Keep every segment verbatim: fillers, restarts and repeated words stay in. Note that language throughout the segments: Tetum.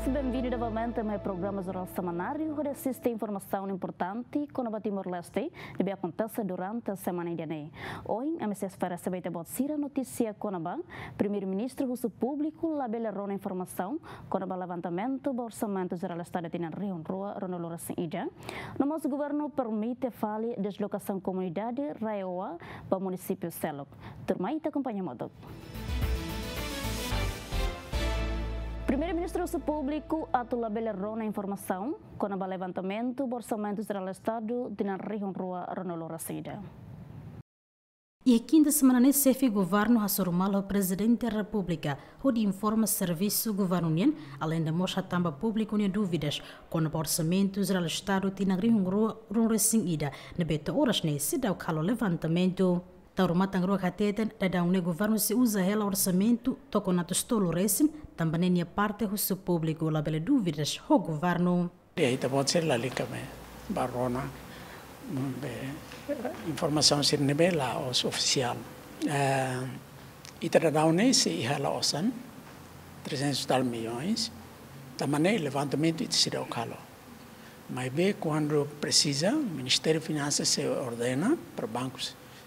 Benvindu novamente mai programa Jornál Semanáriu, hodi asiste informasaun importante kona-ba Timor-Leste ne'ebé akontese durante semana ida-ne'e. Ohin, ami sei fó ba ita-boot sira notísia kona-ba Primeiru-Ministru husu públiku labele rona informasaun kona-ba levantamentu ba Orsamentu Jerál Estadu tinan rihun rua ruanulu-resin-ida. No mós governu permite fali deslokasaun komunidade RAEOA ba munisípiu seluk. Tuirmai ita akompaña hamutuk. Primeiru-Ministru husu públiku atu labele rona informasaun kona-ba levantamentu ba Orsamentu Jerál Estadu tinan rihun rua ruanulu-resin-ida. Iha kinta semana ne'e, xefe governu hasoru malu Prezidente Repúblika hodi informa servisu governu nian, aleinde mós hatán ba públiku nia dúvidas kona-ba Orsamentu Jerál Estadu tinan rihun rua ruanulu-resin-ida ne'ebé to'o oras ne'e seidauk halo levantamentu. Taur Matan Ruak hateten, daudaun ne'e governu sei uza hela orsamentu tokon atus tolu resin, tanba ne'e nia parte husu públiku labele dúvidas ho governu. Ita-boot sira lalika be bá rona, be informasaun sira ne'ebé la'ós ofisiál. Eh, ita daudaun ne'e sei iha hela osan, trezentos e tal milhões, tanba ne'e levantamentu ita seidauk halo. Maibé kuandu presiza, Ministériu Finansas sei ordena para Banku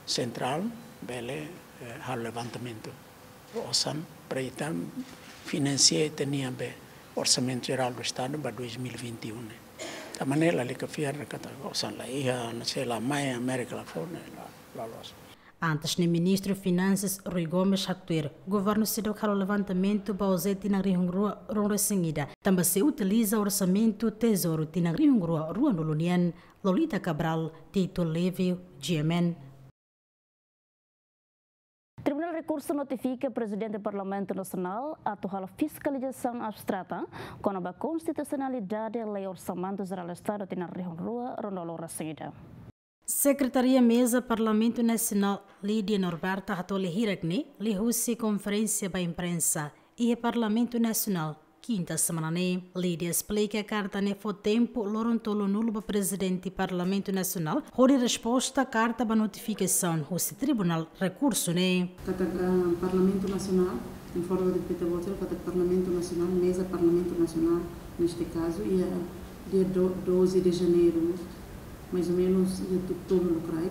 Sentrál bele, eh, halo levantamentu osan para ita finansia ita-nia be Orsamentu Jerál do Estadu ba dois mil e vinte e um ne'e. Tanba ne'e lalika fiar katak osan la iha, no sei la mai Amérika la fó ne'e, la, la loos. Antes ne'e Ministru Finansas Rui Gomes haktuir, governu seidauk halo levantamentu ba OJE tinan rihun rua ruanulu-resin-ida, tanba sei utiliza orsamentu Tezouru tinan rihun rua ruanulu nian. Lolita Cabral, Tito Livio, GMN. Tribunál Rekursu notifika Prezidente Parlamentu Nasionál atu halo fiskalizasaun abstrata kona-ba konstitusionalidade Lei Orsamentu Jerál Estadu tinan rihun rua ruanulu-resin-ida. Sekretaria Meza Parlamentu Nasionál, Lídia Norberta, hato'o lia hirak ne'e liuhusi konferénsia ba imprensa iha Parlamentu Nasionál, kinta semana ne'e. Lídia esplika karta ne'e fó tempu loron tolunulu ba Prezidente Parlamentu Nasionál hodi resposta karta ba notifikasaun husi Tribunál Rekursu ne'e. Katak, ah, Parlamentu Nasionál, informa ba ita-boot sira katak Parlamentu Nasionál, Meza Parlamentu Nasionál, neste kazu, iha dia do-, doze de janeiro, mais ou menos, iha tu-, tolu lokraik,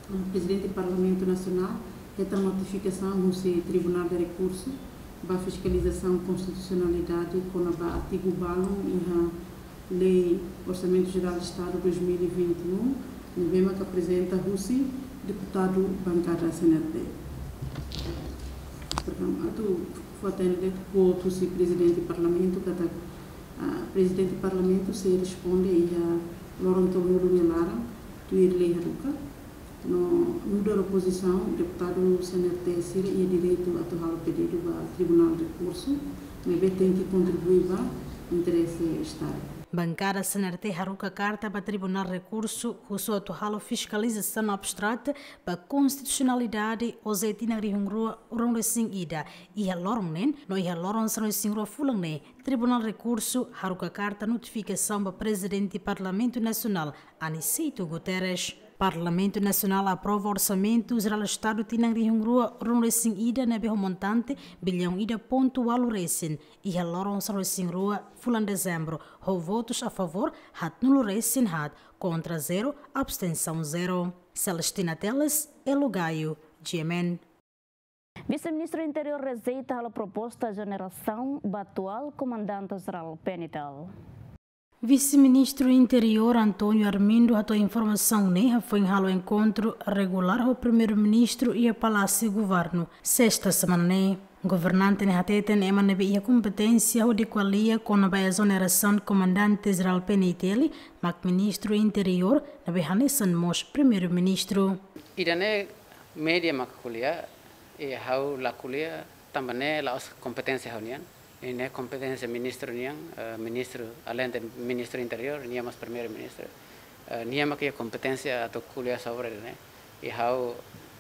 ah, Prezidente Parlamentu Nasionál hetan notifikasaun husi Tribunál de Rekursu ba fiskalizasaun konstitusionalidade kona-ba artigu balun iha Lei Orsamentu Jerál Estadu dois mil e vinte e um, ne'ebé maka aprezenta husi deputadu bankada CNRT. Perdão, atu fó-hatene de'it, quote husi Prezidente Parlamentu katak, ah, Prezidente Parlamentu sei responde iha loron tolunulu nia laran, tuir lei haruka. No nu'udar opozisaun, deputadu CNRT sira iha direitu atu halo pedidu ba Tribunál Rekursu, maibé tenke kontribui ba interese Estadu. Bankada CNRT haruka karta ba Tribunál Rekursu, husu atu halo fiskalizasaun abstrata ba konstitusionalidade OJE tinan rihun rua ruanulu-resin-ida iha loron neen, no iha loron sanulu-resin-rua fulan ne'e, Tribunál Rekursu haruka karta notifikasaun ba Prezidente Parlamentu Nasionál, Aniceto Guterres. Parlamentu Nasionál aprova Orsamentu Jerál Estadu tinan rihun rua ruanulu-resin-ida ne'ebé ho montante biliaun ida pontu ualu resin, iha loron sanulu-resin-rua fulan Dezembru, ho votus a favór haatnulu-resin-haat, kontra zero, abstensaun zero. Celestina Teles, Elo Gaio, GMN. Vise-Ministru Interiór rejeita halo proposta exonerasaun ba atuál Komandante Jerál PNTL. Vise-Ministru Interiór António Armindo hato'o informasaun ne'e hafoin halo enkontru regulár ho Primeiru-Ministru iha Palásiu Governu, sesta semana ne'e. Governante ne'e hateten ema ne'ebé iha kompeténsia hodi ko'alia kona-ba exonerasaun Komandante Jerál PNTL mak Ministru Interiór, ne'ebé hanesan mós Primeiru-Ministru. Ida-ne'e média mak ko'alia, i ha'u la ko'alia, tanba ne'e la'ós kompeténsia ha'u-nian. Ne'e kompeténsia ministru nian, eh, ministru, aleinde Ministru Interiór, nia mós Primeiru-Ministru. Eh, nia mak iha kompeténsia atu ko'alia sobre ne'e. I ha'u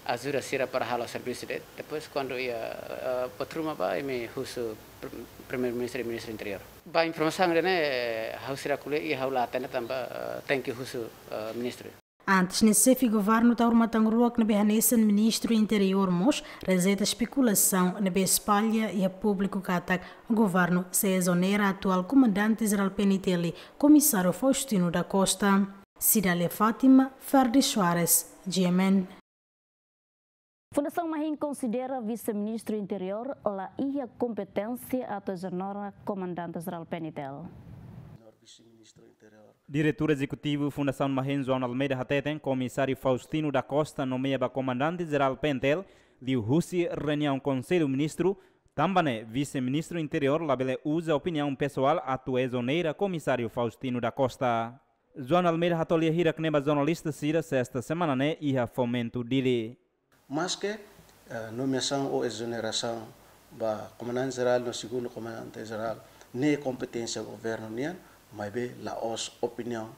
ajuda sira para halo servisu de'it. Depois, kuandu iha, eh, buat ruma ba, imi husu pr-, Primeiru-Ministru i Ministru Interiór. Ba informasaun ida-ne'e, eh, ha'u seidauk ko'alia i ha'u la hatene tanba, eh, tenke husu, eh, ministru. Antes ne'e, xefe governu tau ruma tan ruak ne'ebé hanesan ministru interiór mós rejeita espekulasaun ne'ebé espalla iha públiku katak governu sei ezonera atuál komandante jerál P N T L, komisáriu Faustino da Costa. Cidália Fátima, Ferdi Soares, G M N. Fundasaun Mahin konsidera vise-ministru interiór la iha kompeténsia atu ezonera komandante jerál P N T L. Diretór Ezekutivu Fundasaun Mahin, João Almeida, hateten komisáriu Faustino da Costa nomeia ba komandante jerál P N T L liuhusi reuniaun Konsellu Ministru, tanba ne'e vise-ministru interiór labele uza opiniaun pesoál atu ezonera komisáriu Faustino da Costa. João Almeida hato'o lia hirak ne'e ba jornalista sira sesta semana ne'e iha Fomento, Dili. Maske, eh, nomeasaun ou ezonerasaun ba komandante jerál no segundu komandante jerál ne'e kompeténsia governu nian, maibé la'ós opiniaun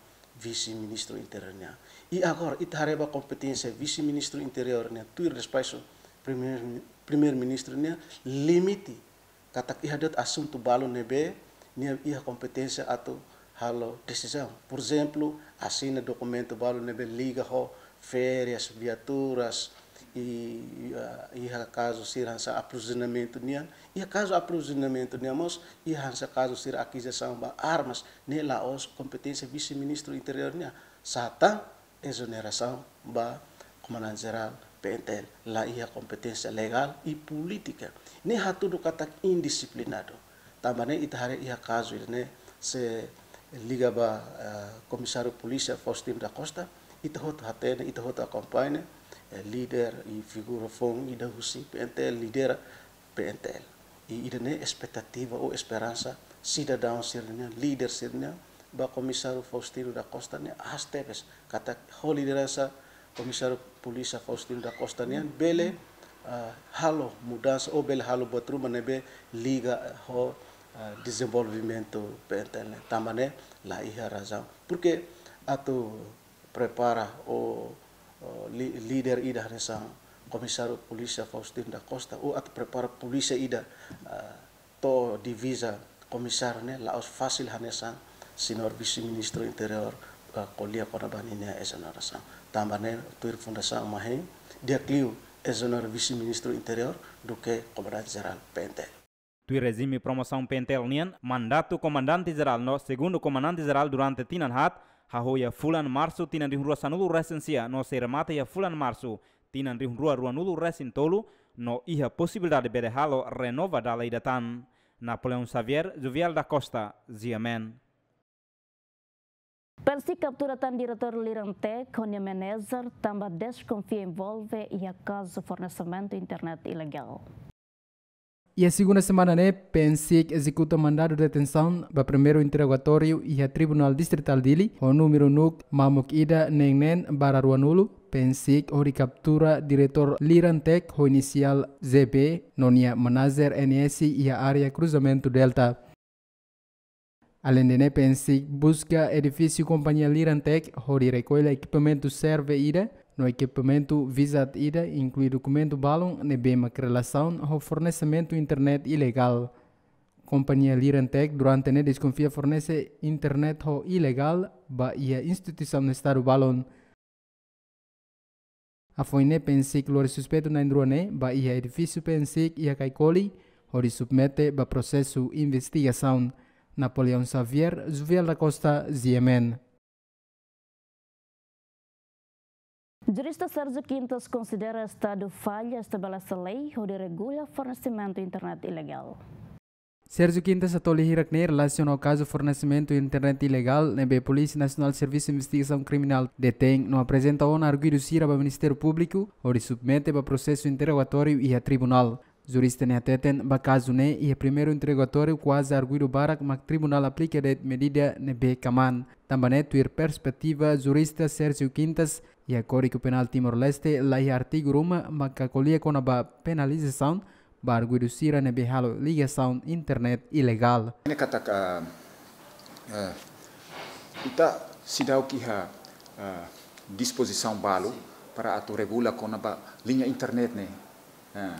vise-ministru interiór nian. I agora, ita haree ba kompeténsia vise-ministru interiór nian, tuir despaxu primeiru, primeiru-ministru nian, limite katak iha de'it asuntu balu ne'ebé nia iha kompeténsia atu halo desizaun. Por ezemplu, asina dokumentu balu ne'ebé liga ho férias, viaturas, i, i, ah, iha kazu sira hanesan aprovizionamentu nian, iha kazu aprovizionamentu nian mós, iha hanesan kazu sira akizisaun ba armas, ne'e la'ós kompeténsia vise-ministru interiór nian. Sá tan ezonerasaun ba komandante jerál P N T L, la iha kompeténsia legál i polítika. Ne'e hatudu katak indisiplinadu. Tanba ne'e ita haree iha kazu ida-ne'e sei liga ba, eh, komisáriu polísia Faustino da Costa, ita hotu hatene, ita hotu akompaña, eh, líder i figura foun ida husi P N T L lidera P N T L. I ida-ne'e espetativa ou esperansa sidadaun sira-nian, líder sira-nian, ba komisáriu Faustino da Costa ne'e aas tebes, katak ho lideransa komisáriu polísia Faustino da Costa nian bele, ah, halo mudansa ou bele halo buat ruma ne'ebé liga, eh, ho, ah, dezenvolvimentu P N T L nian. Tanba ne'e la iha razaun. Porke atu prepara ou, ou li-, líder ida hanesan komisáriu polísia Faustino da Costa, ou atu prepara polísia ida, ah, to'o diviza komisáriu ne'e la'ós fasil hanesan señór vise-ministru interiór, ah, ko'alia kona-ba ninia ezonerasaun. Tanba ne'e tuir Fundasaun Mahin, di'ak liu ezonera vise-ministru interiór duké komandante jerál P N T L. Tuir rejime promosaun P N T L nian, mandatu komandante jerál no segundu komandante jerál durante tinan haat, hahú iha fulan Marsu tinan rihun rua sanulu resin sia no sei remata iha fulan Marsu tinan rihun rua ruanulu resin tolu, no iha posibilidade bele halo renova dala ida tan. Napoleão Xavier, Juvial da Costa, G M N. PNSIK kaptura tan diretór Lirantec ho nia manager tanba deskonfia envolve iha kazu fornesimentu internet ilegál. Iha segunda semana ne'e, PNSIK ezekuta mandadu detensaun ba primeiru interrogatóriu iha Tribunál Distritál Dili, ho númeru NUC mamuk ida neen neen barra ruanulu, PNSIK hodi kaptura diretór Lirantec ho inisiál Z B, no nia manager N S iha área Kruzamentu Delta. Aleinde ne'e, PNSIK buska edifísiu kompañia Lirantec hodi rekolla ekipamentu server ida no ekipamentu VIZAT ida, inklui dokumentu balun ne'ebé mak relasaun ho fornesimentu internet ilegál. Kompañia Lirantec durante ne'e deskonfia fornese internet ho ilegál ba iha instituisaun Estadu balun. Hafoin ne'e, PNSIK lori suspeitu na'in-rua ne'e ba iha edifísiu PNSIK iha Caicoli, hodi submete ba prosesu investigasaun. Napoleão Xavier, Juvial da Costa, G M N. Jurista Sérgio Quintas konsidera Estadu falla estabelese lei hodi regula fornesimentu internet ilegál. Sérgio Quintas hato'o lia hirak ne'e relasiona ho kazu fornesimentu internet ilegál ne'ebé Polísia Nasionál Servisu Investigasaun Kriminál detein no aprezenta ona arguidu sira ba Ministériu Públiku hodi submete ba prosesu interrogatóriu iha tribunál. Jurista ne'e hateten ba kazu ne'e iha primeiru interrogatóriu kuaze arguidu barak mak tribunál aplika de'it medida ne'ebé kmaan. Tanba ne'e tuir perspetiva jurista Sérgio Quintas, iha Kódigu Penál Timor-Leste la iha artigu ruma maka ko'alia kona-ba penalizasaun ba arguidu sira ne'ebé halo ligasaun internet ilegál. Ne'e katak, ah, ah, ita seidauk iha, ah, dispozisaun balu para atu regula kona-ba liña internet ne'e. Ah,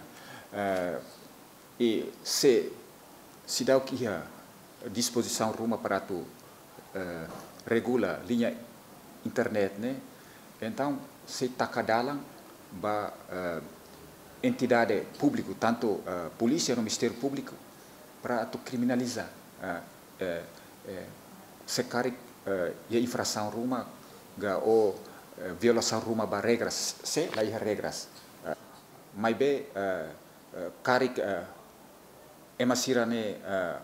ah, i se seidauk iha dispozisaun ruma para atu, eh, regula liña internet ne'e, Entaun, sei taka dalan ba, eh, entidade públiku, tantu, eh, polísia no Ministériu Públiku, para atu kriminaliza, eh, eh, eh, se karik, eh, iha infrasaun ruma ka, ou, eh, violasaun ruma ba regras, se la iha regras. Eh, maibé, eh, eh, karik, eh, ema sira-ne'e, eh,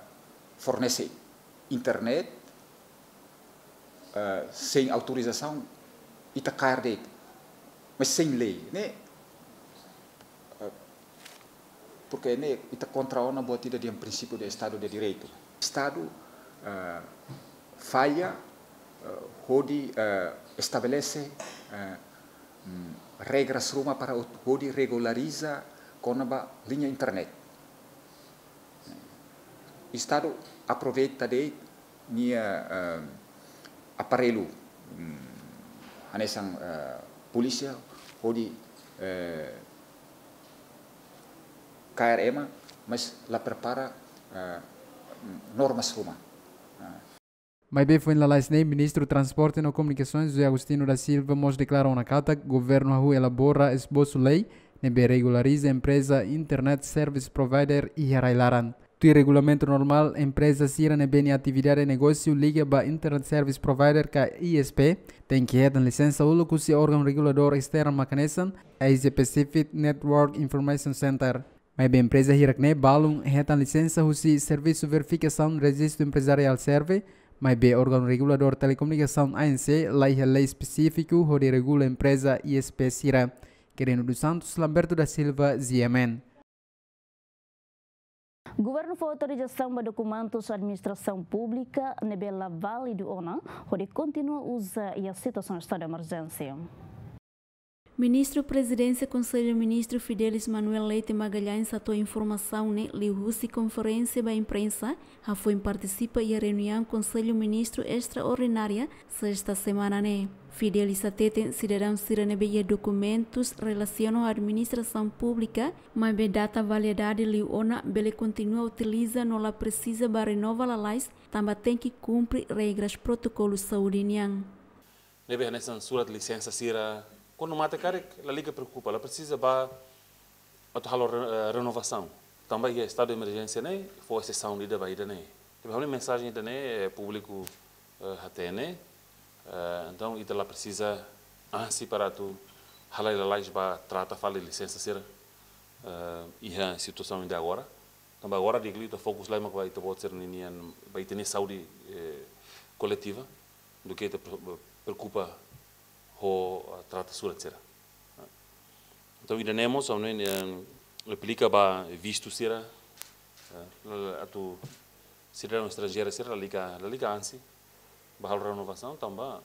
fornese internet, eh, sein autorizasaun, ita kaer de'it, mas sein lei, ne'e? Eh, porke ne'e ita kontra ona buat ida dehan prinsípiu de Estadu de Direitu. Estadu, eh, falla, eh, hodi, eh, estabelese, eh, mm, regras ruma para hodi regulariza kona-ba liña internet. Estadu aproveita de'it nia, eh, aparellu, mm, hanesan, eh, polísia hodi, eh, kaer ema, mas la prepara, eh, normas ruma. Eh. Maibé foin lalais ne'e, Ministru Transporte no Komunikasoens, José Agostinho da Silva, mós deklara ona katak governu hahú elabora esbosu lei ne'ebé regulariza empreza Internet Service Provider iha rai-laran. Tuir regulamentu normál, empreza sira ne'ebé nia atividade negósiu liga ba Internet Service Provider ka I S P, tenke hetan lisensa uluk husi órgaun reguladór esternu mak hanesan Asia Pacific Network Information Center. Maibé empreza hirak-ne'e balun hetan lisensa husi Servisu Verifikasaun Rejistu Emprezariál, SERVE, maibé órgaun reguladór telekomunikasaun, A N C, la iha lei espesífiku hodi regula empreza I S P sira. Quirino dos Santos, Lamberto da Silva, G M N. Governu fó autorizasaun ba dokumentus administrasaun públika ne'ebé la válidu ona, hodi kontinua uza iha situasaun estadu de emerjénsia. Ministru Prezidénsia Konsellu Ministru Fidelis Manuel Leite Magalhães hato'o informasaun ne'e liuhusi konferénsia ba imprensa, hafoin partisipa iha reuniaun Konsellu Ministru estraordinária, sesta semana ne'e. Fidelis hateten sidadaun sira ne'ebé iha dokumentus relasiona ho administrasaun públika, maibé data validade liu ona, bele kontinua utiliza no la presiza ba renova lalais, tanba tenke kumpre regras protokolu saúde nian. Ne'ebé hanesan surat lisensa sira, kuandu mate karik, lalika preokupa, la presiza ba atu halo re-, eh, renovasaun. Tanba iha estadu de emerjénsia ne'e, fó esesaun ida ba ida-ne'e. Ne'ebé ha'u-nia mensajen ida-ne'e, eh, públiku, eh, hatene. Eh, entaun, ita la presiza ansi para atu halai lalais ba trata fali lisensa sira, eh, iha situasaun ida agora. Tanba agora di'ak liu ita fokus lai mak ba ita-boot sira-ninian, ba ita-nia saúde, eh, koletiva, duké ita pre-, preokupa ho, ah, trata surat sira. Entaun, ida-ne'e mós, ha'u-nia, eh, aplika ba vistu sira, eh, atu sidadaun estranjeiru sira lalika, lalika ansi ba halo renovasaun, tanba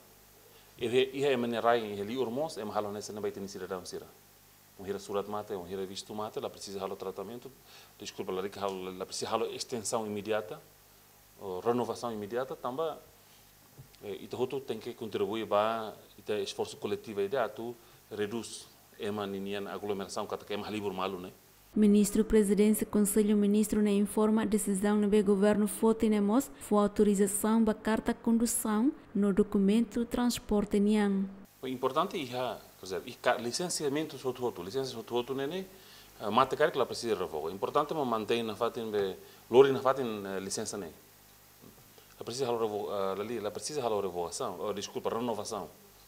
iha, iha ema nia rai iha liur mós, ema halo hanesan ne'e ba ita-nia sidadaun sira. Wainhira surat mate, wainhira vistu mate, la presiza halo tratamentu, deskulpa, lalika halo, la presiza halo estensaun imediata, ou renovasaun imediata, tanba, eh, ita hotu tenke kontribui ba ita esforsu koletiva ida atu redús ema ninian aglomerasaun, katak ema halibur malu ne'e. Ministru Prezidénsia Konsellu Ministru ne'e informa desizaun ne'ebé governu foti ne'e mós fó autorizasaun ba karta kondusaun no dokumentu transporte nian. Importante iha, quer dizer, iha ka-, lisensiamentu hotu-hotu, lisensa hotu-hotu ne'e, ne'e, eh, mate karik la presiza revoga. Importante mak mantein nafatin be, lori nafatin, eh, lisensa ne'e. La presiza halo revo-, eh, la li-, la presiza halo revogasaun, oh, deskulpa, renovasaun.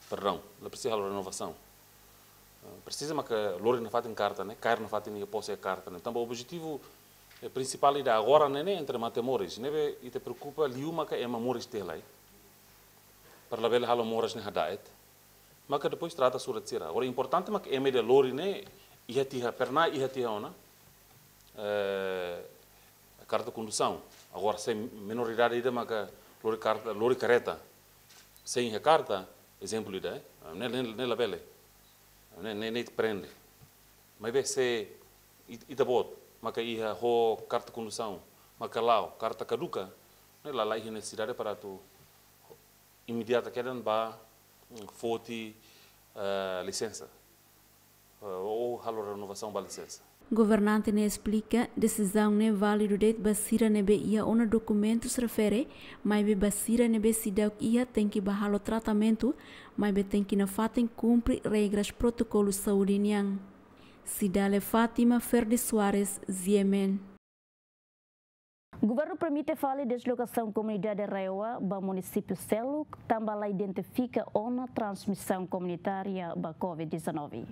Perdaun, la presiza halo renovasaun. Eh, presiza maka lori nafatin karta ne'e, kaer nafatin iha pose karta ne'e. Tanba objetivu, eh, prinsipál ida agora ne'e, ne'e entre mate moris. Ne'ebé ita preokupa liu maka ema moris tiha lai. Para labele halo moras ne'e hada'et. Maka depois trata surat sira. Agora importante maka ema ida lori ne'e iha tiha, pernah iha tiha ona, eh, karta kondusaun. Agora se menoridade ida maka lori karta, lori kareta sein iha karta, ezemplu ida, eh. Ne'e, ne'e, ne'e labele. Ne'e, ne'e, ne'e prende. Maibé se it-, ita-boot maka iha ho karta kondusaun, maka la'o, karta kaduka, ne'e la, la iha nesesidade para atu imediata kedan ba, mm, foti, eh, lisensa, eh, ou halo renovasaun ba lisensa. Governante ne'e esplika, desizaun ne'e válidu de'it ba sira ne'ebé iha ona dokumentus refere, maibé ba sira ne'ebé seidauk iha tenke bá halo tratamentu, maibé tenke nafatin kumpre regras protokolu saúde nian. Cidália Fátima, Ferdi Soares, G M N. Governu permite fali deslokasaun komunidade RAEOA ba munisípiu seluk, tanba la identifika ona transmisaun komunitária ba covid dezanove.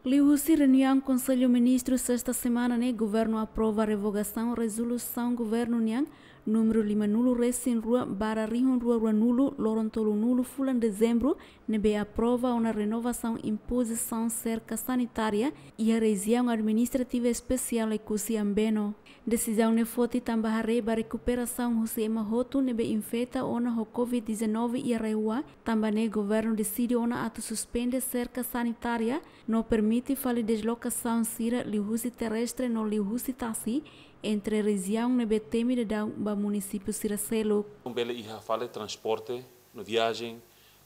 Liuhusi reuniaun Konsellu Ministru sesta semana ne'e, governu aprova revogasaun rezolusaun governu nian númeru lima-nulu resin rua barra rihun rua rua-nulu, loron tolunulu fulan Dezembru, ne'ebé aprova ona renovasaun impozisaun serka sanitária iha Rejiaun Administrativa Espesiál Oekusi Ambeno. Desizaun ne'e foti tanba haree ba rekuperasaun husi ema hotu ne'ebé infeta ona ho covid dezanove iha RAEOA, tanba ne'e governu deside ona atu suspende serka sanitária no permite fali deslokasaun sira liuhusi terrestre no liuhusi tasi entre rejiaun ne'ebé temi daudaun ba munisípiu sira seluk. Bele iha fali transporte no viajen,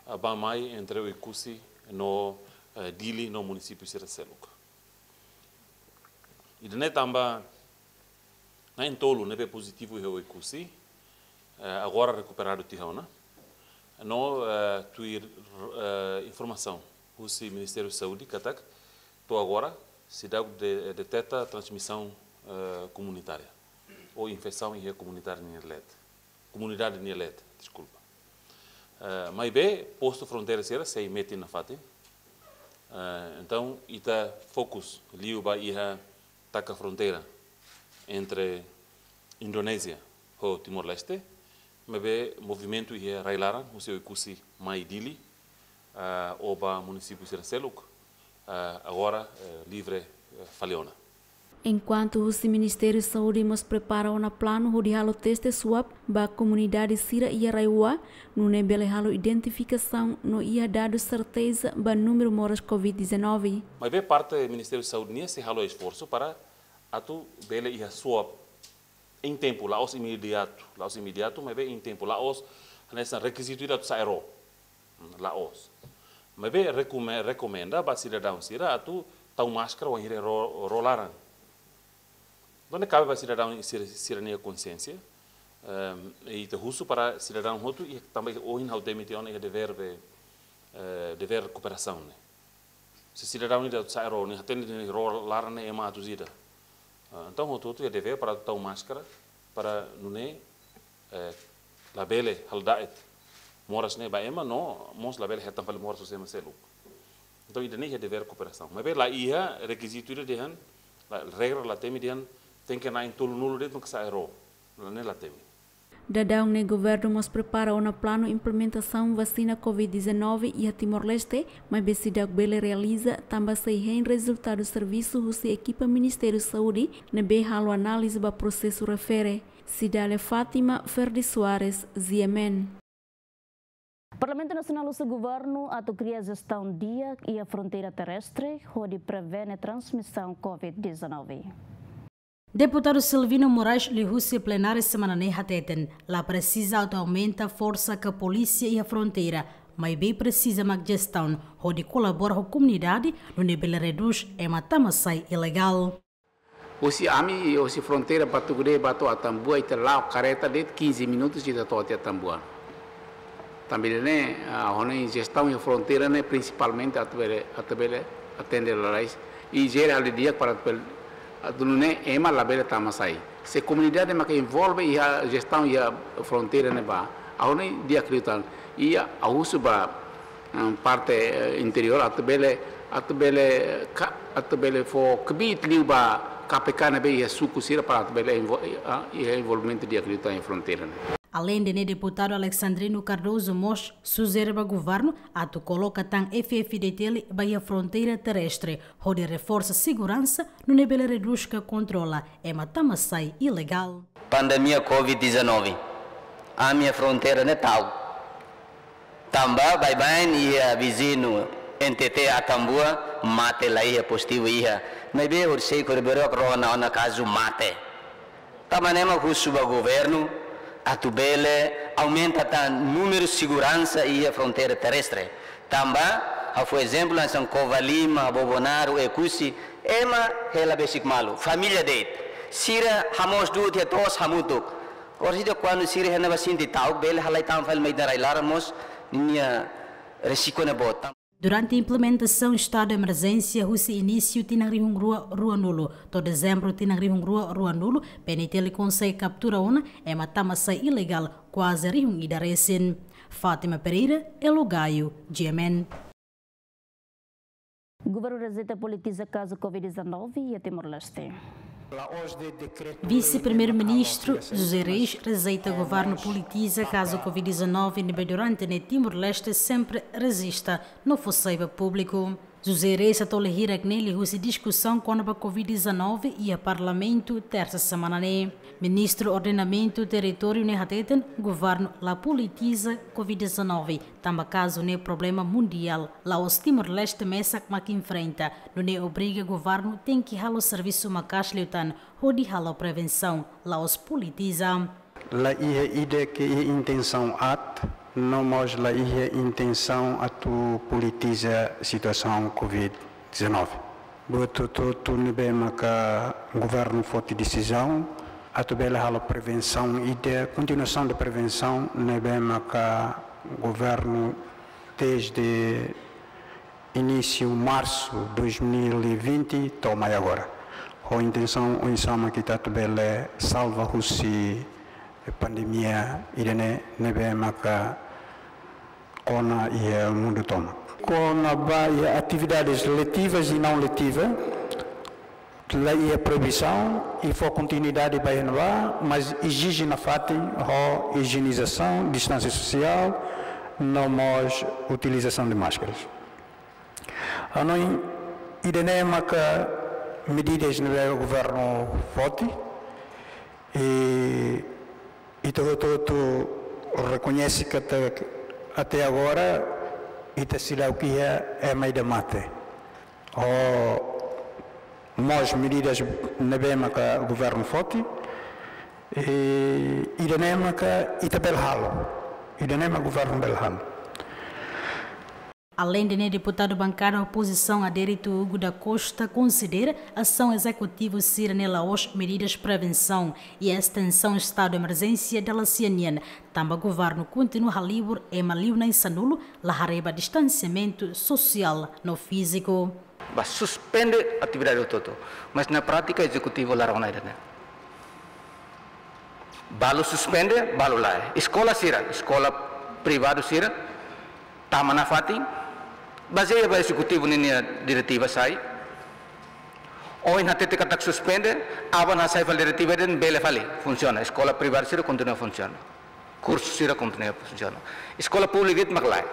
ah, bá-mai entre Oekusi no, eh, Dili no munisípiu sira seluk. Ida-ne'e tanba na'in-tolu ne'ebé pozitivu iha Oekusi, eh, agora rekuperadu tiha ona. No, eh, tuir, eh, informasaun husi Ministériu Saúde katak to'o agora seidauk de-, deteta transmisaun, eh, komunitária ou infesaun iha komunitária nia leet. Komunidade nia leet, deskulpa. Eh, maibé postu fronteira sira sei metin nafatin. Eh, entaun, ita fokus liu ba iha taka fronteira entre Indonézia ho Timor-Leste, maibé movimentu iha rai-laran, husi Oekusi mai Dili, ah, ou ba munisípiu sira seluk, ah, agora, eh, livre, eh, fali ona. Enkuantu husi Ministériu Saúde mós prepara ona planu hodi halo teste swab ba komunidade sira iha RAEOA, nune'e bele halo identifikasaun no iha dadus serteza ba númeru moras covid dezanove. Maibé parte Ministériu Saúde nian sei halo esforsu para atu bele iha swab em tempo, la'ós imediatu, la'ós imediatu, maibé em tempo, la'ós hanesan rekizitu ida atu sa'e ró. Hmm, la'ós. Maibé rekome-, rekomenda ba sidadaun sira atu tau máskara wainhira ró, ró laran. Entaun kabe ba sidadaun sira, sira-nia konsiénsia, ehm, i ita husu para sidadaun hotu, i tanba ohin ha'u temi tiha ona iha devér be, eh, devér kooperasaun ne'e. Se sidadaun ida sa'e ró, nia hatene dehan ró laran ne'e ema atus ida. Ah, entaun, hotu-hotu iha devér para tau máskara, para nune'e, eh, labele halo da'et moras ne'e ba ema, no mós labele hetan fali moras husi ema seluk. Entaun, ida-ne'e iha devér kooperasaun. Maibé la iha rekizitu ida dehan, la, regra la temi dehan, tenke na'in-tolunulu de'it mak sa'e ró. Ne'e la temi. Daudaun ne'e governu mós prepara ona planu implementasaun vasina covid dezanove iha Timor-Leste, maibé seidauk bele realiza tanba sei hein rezultadu servisu husi ekipa Ministériu Saúde ne'ebé halo análize ba prosesu refere. Cidália Fátima, Ferdi Soares, G M N. Parlamentu Nasionál husu governu atu kria jestaun di'ak iha fronteira terrestre, hodi prevene transmisaun covid dezanove. Deputadu Silvino Moraes liuhusi plenária semana ne'e hateten, la presiza atu aumenta forsa ka polísia iha fronteira, maibé presiza mak jestaun hodi kolabora ho komunidade, nune'e bele redús ema tama-sai ilegál. Husi ami, husi fronteira Batugudé ba to'o Atambua ita la'o kareta de'it quinze minutos ita to'o tiha Atambua. Tanba ne'e, ah, ha'u-nia jestaun iha fronteira ne'e prinsipalmente atu bele, atu bele atende lalais. I jere halo di'ak para atu bele, atu nune'e ema labele tama-sai. Se komunidade maka envolve iha jestaun iha fronteira ne'ebá, ha'u-nia di'ak liután. I ha'u husu ba, em, parte, eh, interiór atu bele, atu bele, ka-, atu bele fó kbiit liu ba K P K ne'ebé iha suku sira para atu bele envol-, ah, iha envolvimentu di'ak liután iha fronteira ne'e. Aleinde ne'e, deputadu Alexandrino Cardoso mós sujere ba governu atu koloka tan F F D T L ba iha fronteira terrestre, hodi reforsa seguransa, nune'e bele redús ka kontrola ema tama-sai ilegál. Pandemia covid dezanove, ami iha fronteira ne'e ta'uk. Tanba baibain iha viziñu N T T Atambua, mate la iha, pozitivu iha. Maibé horisehik, horibainrua rona ona kazu mate. Tanba ne'e mak husu ba governu atu bele aumenta tan númeru seguransa iha fronteira terrestre. Tanba Ha'u fó ezemplu hanesan Covalima, Bobonaro, Oekusi, ema hela besik malu, família de'it. Sira hamoos du'ut iha to'os hamutuk. Orsida kuandu sira iha ne'ebá sente ta'uk, bele halai tan fali mai ita-nia rai-laran mós, ninia risku ne'e boot. Durante implementasaun estadu emerjénsia husi inísiu tinan rihun rua ruanulu to'o dezembru tinan rihun rua ruanulu, P N T L konsege kaptura ona ema tama-sai ilegál kuaze rihun ida resin. Fátima Pereira, Elo Gaio, G M N. Governu rejeita politiza kazu covid dezanove iha Timor-Leste. Vise-Primeiru-Ministru José Reis rejeita governu politiza kazu covid dezanove ne'ebé durante ne'e Timor-Leste sempre rejista no fó sai ba públiku. José Reis hato'o hirak ne'e liuhusi diskusaun kona-ba covid dezanove iha Parlamentu tersa semana ne'e. Ministru Ordenamentu Territóriu ne'e hateten governu la politiza covid dezanove, tanba kazu ne'e problema mundiál, la'ós Timor-Leste mesak mak enfrenta, nune'e obriga governu tenke halo servisu maka'as liután hodi halo prevensaun, la'ós politiza. La iha ida ke iha intensaun aat, no mós la iha intensaun atu politiza situasaun covid dezanove. Buat hotu-hotu ne'ebé maka governu foti desizaun atu bele halo prevensaun ida, kontinuasaun de prevensaun ne'ebé maka governu desde inísiu marsu dois mil e vinte to'o mai agora. Ho intensaun oinsá mak ita atu bele salva husi pandemia ida-ne'e ne'ebé maka kona iha mundu tomak. Kona-ba iha atividades letivas e não letivas, la iha proibisaun i fó kontinuidade ba iha ne'ebá, mas ezije nafatin ho ijienizasaun, distánsia sosiál, no mós utilizasaun de máskaras. Hanoin ida-ne'e maka medidas ne'ebé governu foti, i ita hotu-hotu rekoñese katak até agora ita seidauk iha ema ida mate. Ho mós medidas ne'ebé maka governu foti, i ida-ne'e maka ita bele halo, ida-ne'e maka governu bele halo. Aleinde ne'e, deputadu bankada opozisaun Adérito Hugo da Costa konsidera asaun ezekutivu sira-ne'e la'ós medidas prevensaun i estensaun estadu emerjénsia dala sia nian, tanba governu kontinua halibur ema liu na'in sanulu, la haree ba distansiamentu sosiál no fíziku. Ba suspende atividade hotu-hotu, mas na prátika ezekutivu la rona ida-ne'e. Balu suspende, balu lae. Eskola sira, eskola privadu sira, tama nafatin, bazeia ba ezekutivu ninia diretiva sai. Ohin hatete katak suspende, aban hasai fali diretiva de'it bele fali funsiona. Eskola privadu sira kontinua funsiona. Kursu sira kontinua funsiona. Eskola públika de'it mak lae.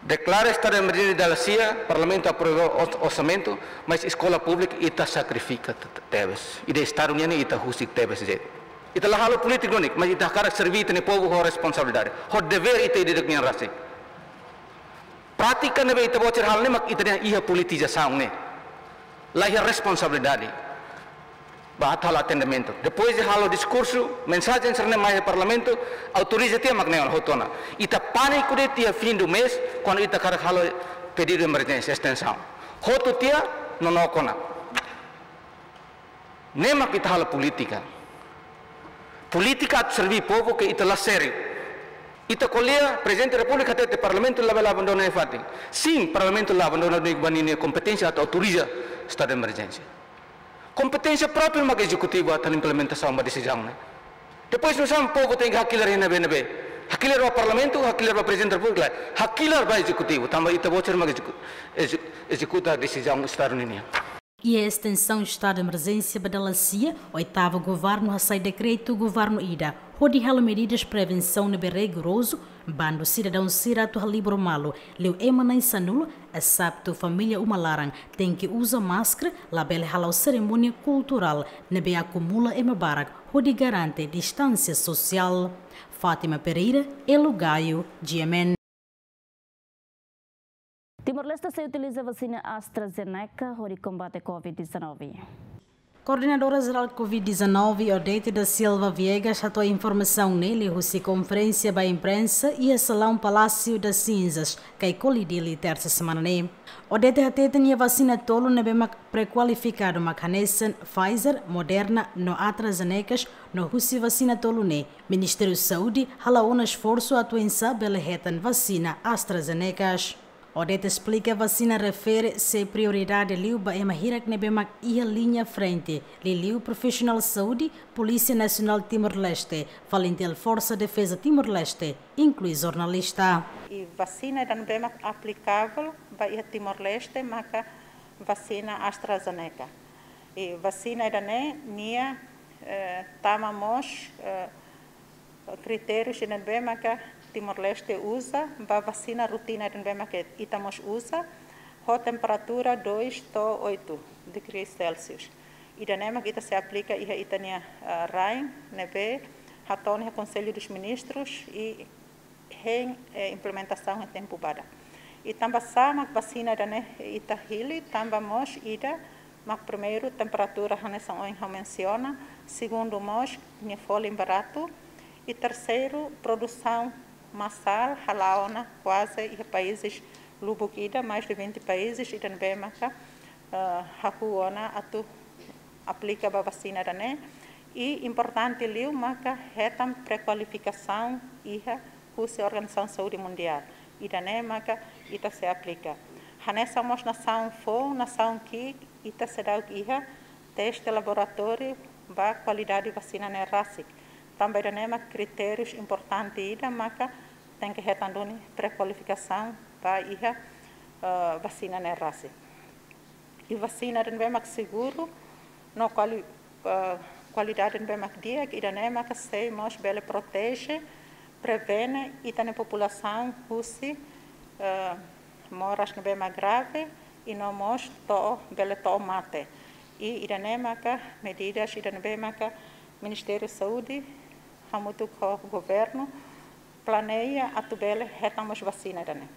Deklara estadu emerjénsia dala sia, Parlamentu aprova ors-, orsamentu, mas eskola públika ita sakrifika te-, te-, tebes. Ida estadu nian ita husik tebes de'it. Ita la halo polítika duni, mas ita hakarak serví ita-nia povu ho responsabilidade, ho devér ita ida-idak nian rasik. Prátika ne'ebé ita-boot sira halo ne'e mak ita-nia iha politizasaun ne'e. La iha responsabilidade ba atu halo atendimentu. Depois de halo diskursu, mensajen sira-ne'e mai iha Parlamentu, autoriza tiha mak ne'e ona hotu ona. Ita pániku de'it iha fim do mês, kuandu ita hakarak halo pedidu emerjénsia estensaun. Hotu tiha, nonook ona. Ne'e mak ita halo polítika. Polítika atu serví povu ke ita la sériu. Ita ko'alia, Prezidente Repúblika hatete Parlamentu labele abandona nia fatin. Sin, Parlamentu la abandona nia, ba ninia kompeténsia atu autoriza estadu de emerjénsia. Kompeténsia própriu mak ezekutivu atu implementasaun ba desizaun ne'e. Depois nusá mak povu tenke hakilar iha ne'ebé-ne'ebé. Hakilar ba Parlamentu, hakilar ba Prezidente Repúblika, hakilar ba ezekutivu, tanba ita-boot sira mak ezeku-, ezeku-, ezekuta desizaun estadu ninian. Iha estensaun estadu de emerjénsia ba dala sia, oitavu governu hasai dekretu governu ida hodi halo medidas prevensaun ne'ebé rigorozu, bandu sidadaun sira atu halibur malu, liu ema na'in sanulu, exetu família uma laran, tenke uza máskara, labele hala'o serimónia kulturál ne'ebé akumula ema barak, hodi garante distánsia sosiál. Fátima Pereira, Elo Gaio, G M N. Timor-Leste sei utiliza vasina AstraZeneca hodi kombate covid dezanove. Koordenadora Jerál Covid dezanove, Odete da Silva Viegas, hato'o informasaun ne'e liuhusi konferénsia ba imprensa iha salaun Palácio das Cinzas, Caicoli, Dili, tersa semana ne'e. Odete hateten iha vasina tolu ne'ebé mak prekualifikadu mak hanesan Pfizer, Moderna no AstraZeneca, no husi vasina tolu ne'e Ministériu Saúde hala'o ona esforsu atu oinsá bele hetan vasina AstraZeneca. Odete esplika vasina refere sei prioridade liu ba ema hirak ne'ebé mak iha liña frente, liuliu profisionál saúde, Polísia Nasionál Timor-Leste, FALINTIL, Forsa Defeza Timor-Leste, inklui jornalista. I vasina ida ne'ebé mak aplikavel ba iha Timor-Leste maka vasina AstraZeneca. I vasina ida-ne'e nia, eh, tama mós, eh, kritériu ida ne'ebé maka Timor-Leste uza ba vasina rutina ida ne'ebé maka ita mós uza, ho temperatura dois to'o oito degrees Celsius. Ida-ne'e mak ita sei aplika iha ita-nia, ah, rain ne'ebé hato'o ona iha Conselho dos Ministros i hein, eh, implementasaun iha tempu badak. I tanba sá mak vasina ida-ne'e ita hili, tanba mós ida mak primeiru temperatura hanesan ohin ha'u mensiona, segundu mós nia folin baratu, i terseiru produsaun masál hala'o ona kuaze iha países lubuk ida, mais de vinte países ida ne'ebé maka, eh, hahú ona atu aplika ba vasina ida-ne'e. I importante liu maka hetan prekualifikasaun iha husi Organizasaun Saúde Mundiál. Ida-ne'e maka ita sei aplika. Hanesan mós nasaun foun, nasaun ki'ik, ita seidauk iha teste laboratóriu ba kualidade vasina ne'e rasik. Tanba ida-ne'e mak kritérius importante ida maka tenke hetan duni prekualifikasaun ba iha, eh, vasina ne'e rasik. I vasina ida ne'ebé mak seguru no kuali-, eh, kualidade ne'ebé mak di'ak, ida-ne'e maka sei mós bele proteje, prevene ita-nia populasaun husi, eh, moras ne'ebé mak grave, i no mós to'o, bele to'o mate. I ida-ne'e maka medidas ida ne'ebé maka Ministériu Saúde hamutuk ho governu planeia atu bele hetan mós vasina ida-ne'e.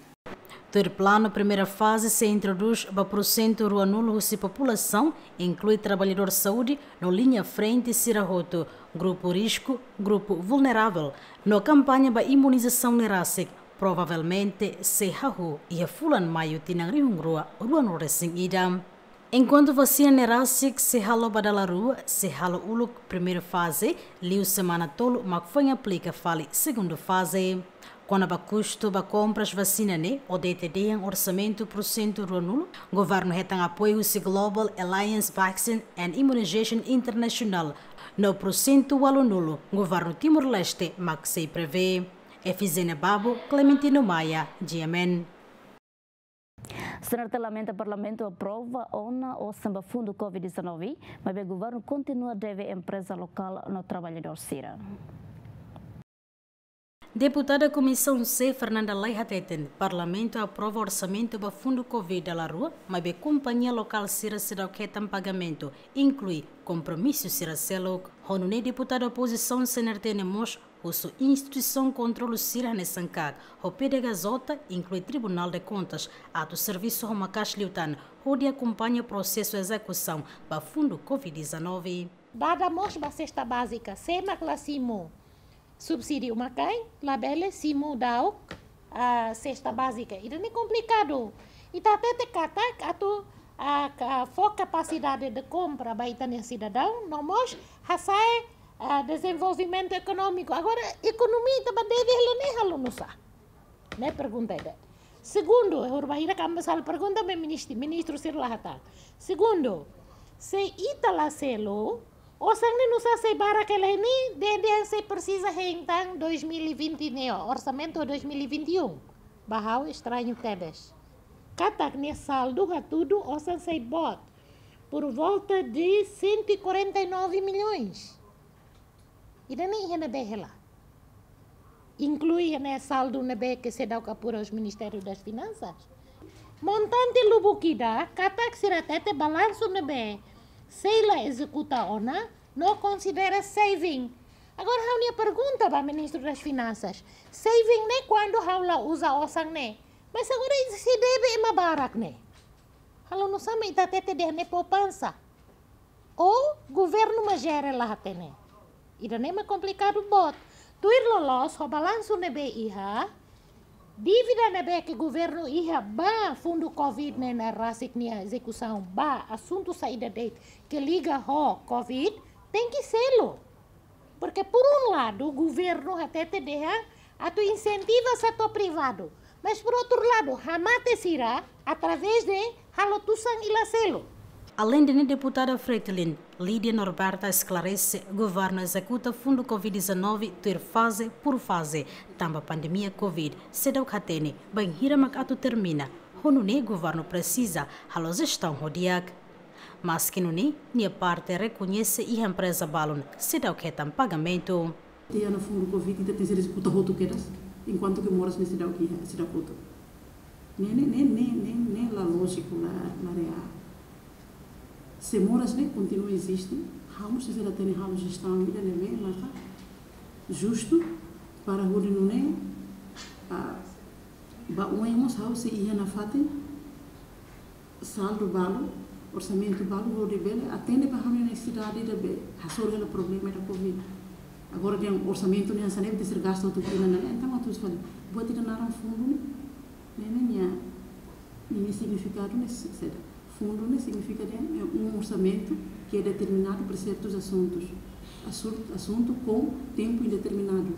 Tuir planu, primeira faze sei introdús ba porsentu ruanulu husi populasaun, inklui traballadór saúde no liña frente sira hotu, grupu risku, grupu vulneravel, no kampaña ba imunizasaun ne'e rasik provavelmente sei hahú iha fulan Maiu tinan rihun rua ruanulu resin ida. Enkuantu vasina ne'e rasik sei halo ba dala rua, sei halo uluk primeira faze, liu semana tolu mak foin aplika fali segunda faze. Kona-ba kustu ba kompras vasina ne'e, Odete dehan orsamentu porsentu ruanulu, governu hetan apoiu husi Global Alliance Vaccine and Immunization International, no porsentu ualunulu, governu Timor-Leste mak sei prevee. Efizénia Babo, Clementino Maia, G M N. CNRT lamenta Parlamentu aprova ona osan ba fundu Covid dezanove, maibé governu kontinua deve empreza lokál no traballadór sira. Deputada Komisaun C, Fernanda Lay hateten, Parlamentu aprova orsamentu ba fundu Covid dala rua, maibé kompañia lokál sira seidauk hetan pagamentu, inklui kompromisu sira seluk. Ho nune'e deputada opozisaun CNRT ne'e mós husu instituisaun kontrolu sira hanesan KAK ho PDHJ, inklui Tribunál de Contas, atu servisu ho maka'as liután hodi akompaña prosesu ezekusaun ba fundu Covid dezanove. Dada mós ba sesta bázika, sé mak la simu subsídiu umakain, labele simu daudaun, ah, sesta bázika. Ida-ne'e komplikadu. Ita hatete katak atu, ah, ka-, fó kapasidade de kompra ba ita-nia sidadaun, no mós hasa'e, ah, dezenvolvimentu ekonómiku. Agora, ekonomia ita ba deve hela ne'e halo nusá? Ne'e pergunta ida. Segundu, ha'u bainhira kami sala pergunta ba ministru, ministru sira la hatán. Segundu, se ita la selu, osan ne'e nusá sei barak hela ne'e, dehan sei presiza hein tan dois mil e vinte ne'e, orsamentu dois mil e vinte e um. Ba ha'u estrañu tebes. Katak nia saldu hatudu osan sei boot por volta de cento e quarenta e nove milhões. Ida-ne'e iha ne'ebé hela? Inklui iha ne'e saldu ne'ebé ke seidauk apura husi Ministériu das Finansas. Montante lubuk ida, katak sira hatete balansu ne'ebé sei la ezekuta ona, no konsidera saving. Agora, ha'u-nia pergunta ba Ministru das Finansas, saving ne'e kuandu ha'u la uza osan ne'e. Mas agora ita sei deve ema barak ne'e. Halo nusá mak ita hatete dehan ne'e poupansa? Ou governu mak jere la hatene. Ida-ne'e mak komplikadu boot. Tuir loloos ho balansu ne'ebé iha, dívida ne'ebé ke governu iha ba fundu covid ne'e, ne'e rasik nia ezekusaun ba asuntu saida de'it ke liga ho covid, tenke selu. Porque por um lado governu hatete dehan atu insentiva setór privadu, mas por outro lado hamate sira através de halo tusan i la selu. Alende ne'e, deputada Fretilin, Lídia Norberta esklarese governu ezekuta fundu covid dezanove tuir faze por faze, tanba pandemia covid seidauk hatene bainhira mak atu termina, ho nune'e governu presiza halo jestaun ho di'ak. Maske nune'e, nia parte rekoñese iha empreza balun seidauk hetan pagamentu. Tiha ona fundu covid ita tenke ezekuta hotu kedas, enkuantu ke moras ne'e seidauk iha, seidauk hotu. Ne'e, ne'e, ne'e, ne'e, ne'e, ne'e la lójiku, la, la reál. Se moras ne'e kontinua eziste, ha'u mós sei hatene halo jestaun ida ne'ebé maka justu para hodi nune'e, ah, ba oin mós ha'u sei iha nafatin saldu balu, orsamentu balu, hodi bele atende ba ha'u-nia nesesidade ida be hasoru hela problema ida covid. Agora dehan orsamentu ne'e hanesan ne'e tenke ser gastu hotu tinan ne'e, entaun atu fali buat ida naran fundu ne'e, ne'e, ne'e nia, nia signifikadu ne'e se-, saida. Fundu ne'e signifika dehan é um orçamento que é determinado para certos assuntos. Assunto, assunto com tempo indeterminado.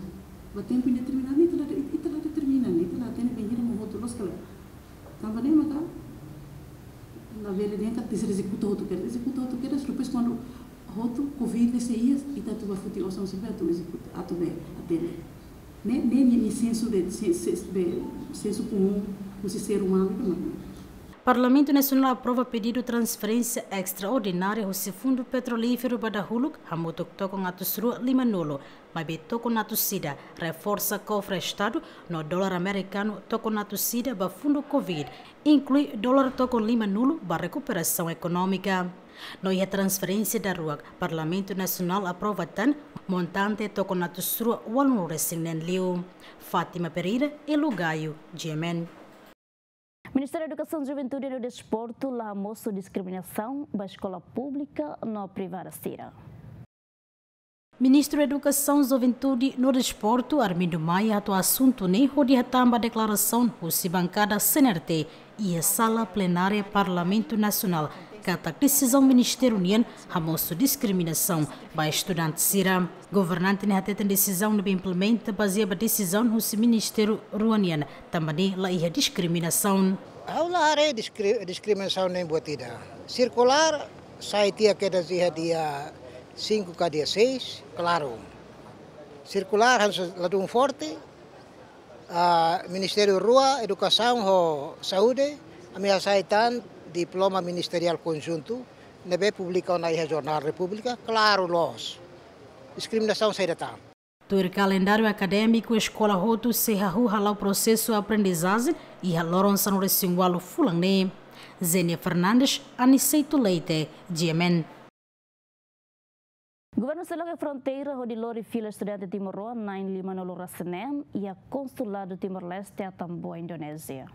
Ba tempu indeterminadu ne'e ita la, ita la determina, ne'e ita la hatene bainhira mak hotu, loos ka lae. Tanba ne'e maka labele dehan katak tenke ser ezekuta hotu kedas, ezekuta hotu kedas, depois kuandu hotu covid ne'e sei iha, ita atu ba foti osan sira be atu ezekuta, atu be atende. Ne'e, ne'e, ne'e, ne'e sensu de, sen-, sen-, be, sensu komún husi ser umanu ida mak ne'e. Parlamentu Nasionál aprova pedidu transferénsia estraordinária husi Fundu Petrolíferu ba dahuluk, hamutuk tokon atus rua limanulu, maibé tokon atus ida reforsa kofre Estadu, no dolar amerikanu tokon atus ida ba fundu covid, inklui dolar tokon limanulu ba rekuperasaun ekonómika. No iha transferénsia daruak, Parlamentu Nasionál aprova tan montante tokon atus rua ualunulu resin neen liu. Fátima Pereira, Elo Gaio, G M N. Ministériu Edukasaun, Juventude no Desportu la hamosu diskriminasaun ba eskola públika no privada sira. Ministru Edukasaun, Juventude no Desportu, Armindo Maia, hato'o asuntu ne'e hodi hatán ba deklarasaun husi bankada C N R T iha sala plenária Parlamentu Nasionál, katak desizaun ministériu nian hamosu diskriminasaun ba estudante sira. Governante ne'e hateten desizaun ne'ebé implementa bazeia ba desizaun husi ministériu rua nian, tanba ne'e la iha diskriminasaun. Ha'u la haree diskri-, diskriminasaun nein buat ida. Sirkulár sai tiha kedas iha dia cinco ka dia seis, klaru. Sirkulár hanesan ladún forte, ah, ministériu rua, Edukasaun ho Saúde, ami hasai tan diploma ministeriál konjuntu, ne'ebé publika ona iha Jornál Repúblika, klaru loos. Diskriminasaun saida tan. Tuir kalendáriu akadémiku, eskola hotu sei hahú hala'o prosesu aprendizajen iha loron sanulu-resin-ualu fulan ne'e. Zenia Fernandes, Aniceto Leite, G M N. Governu sei loke fronteira hodi lori fila estudante timoroan na'in limanulu resin neen iha Konsuladu Timor-Leste Atambua, Indonézia.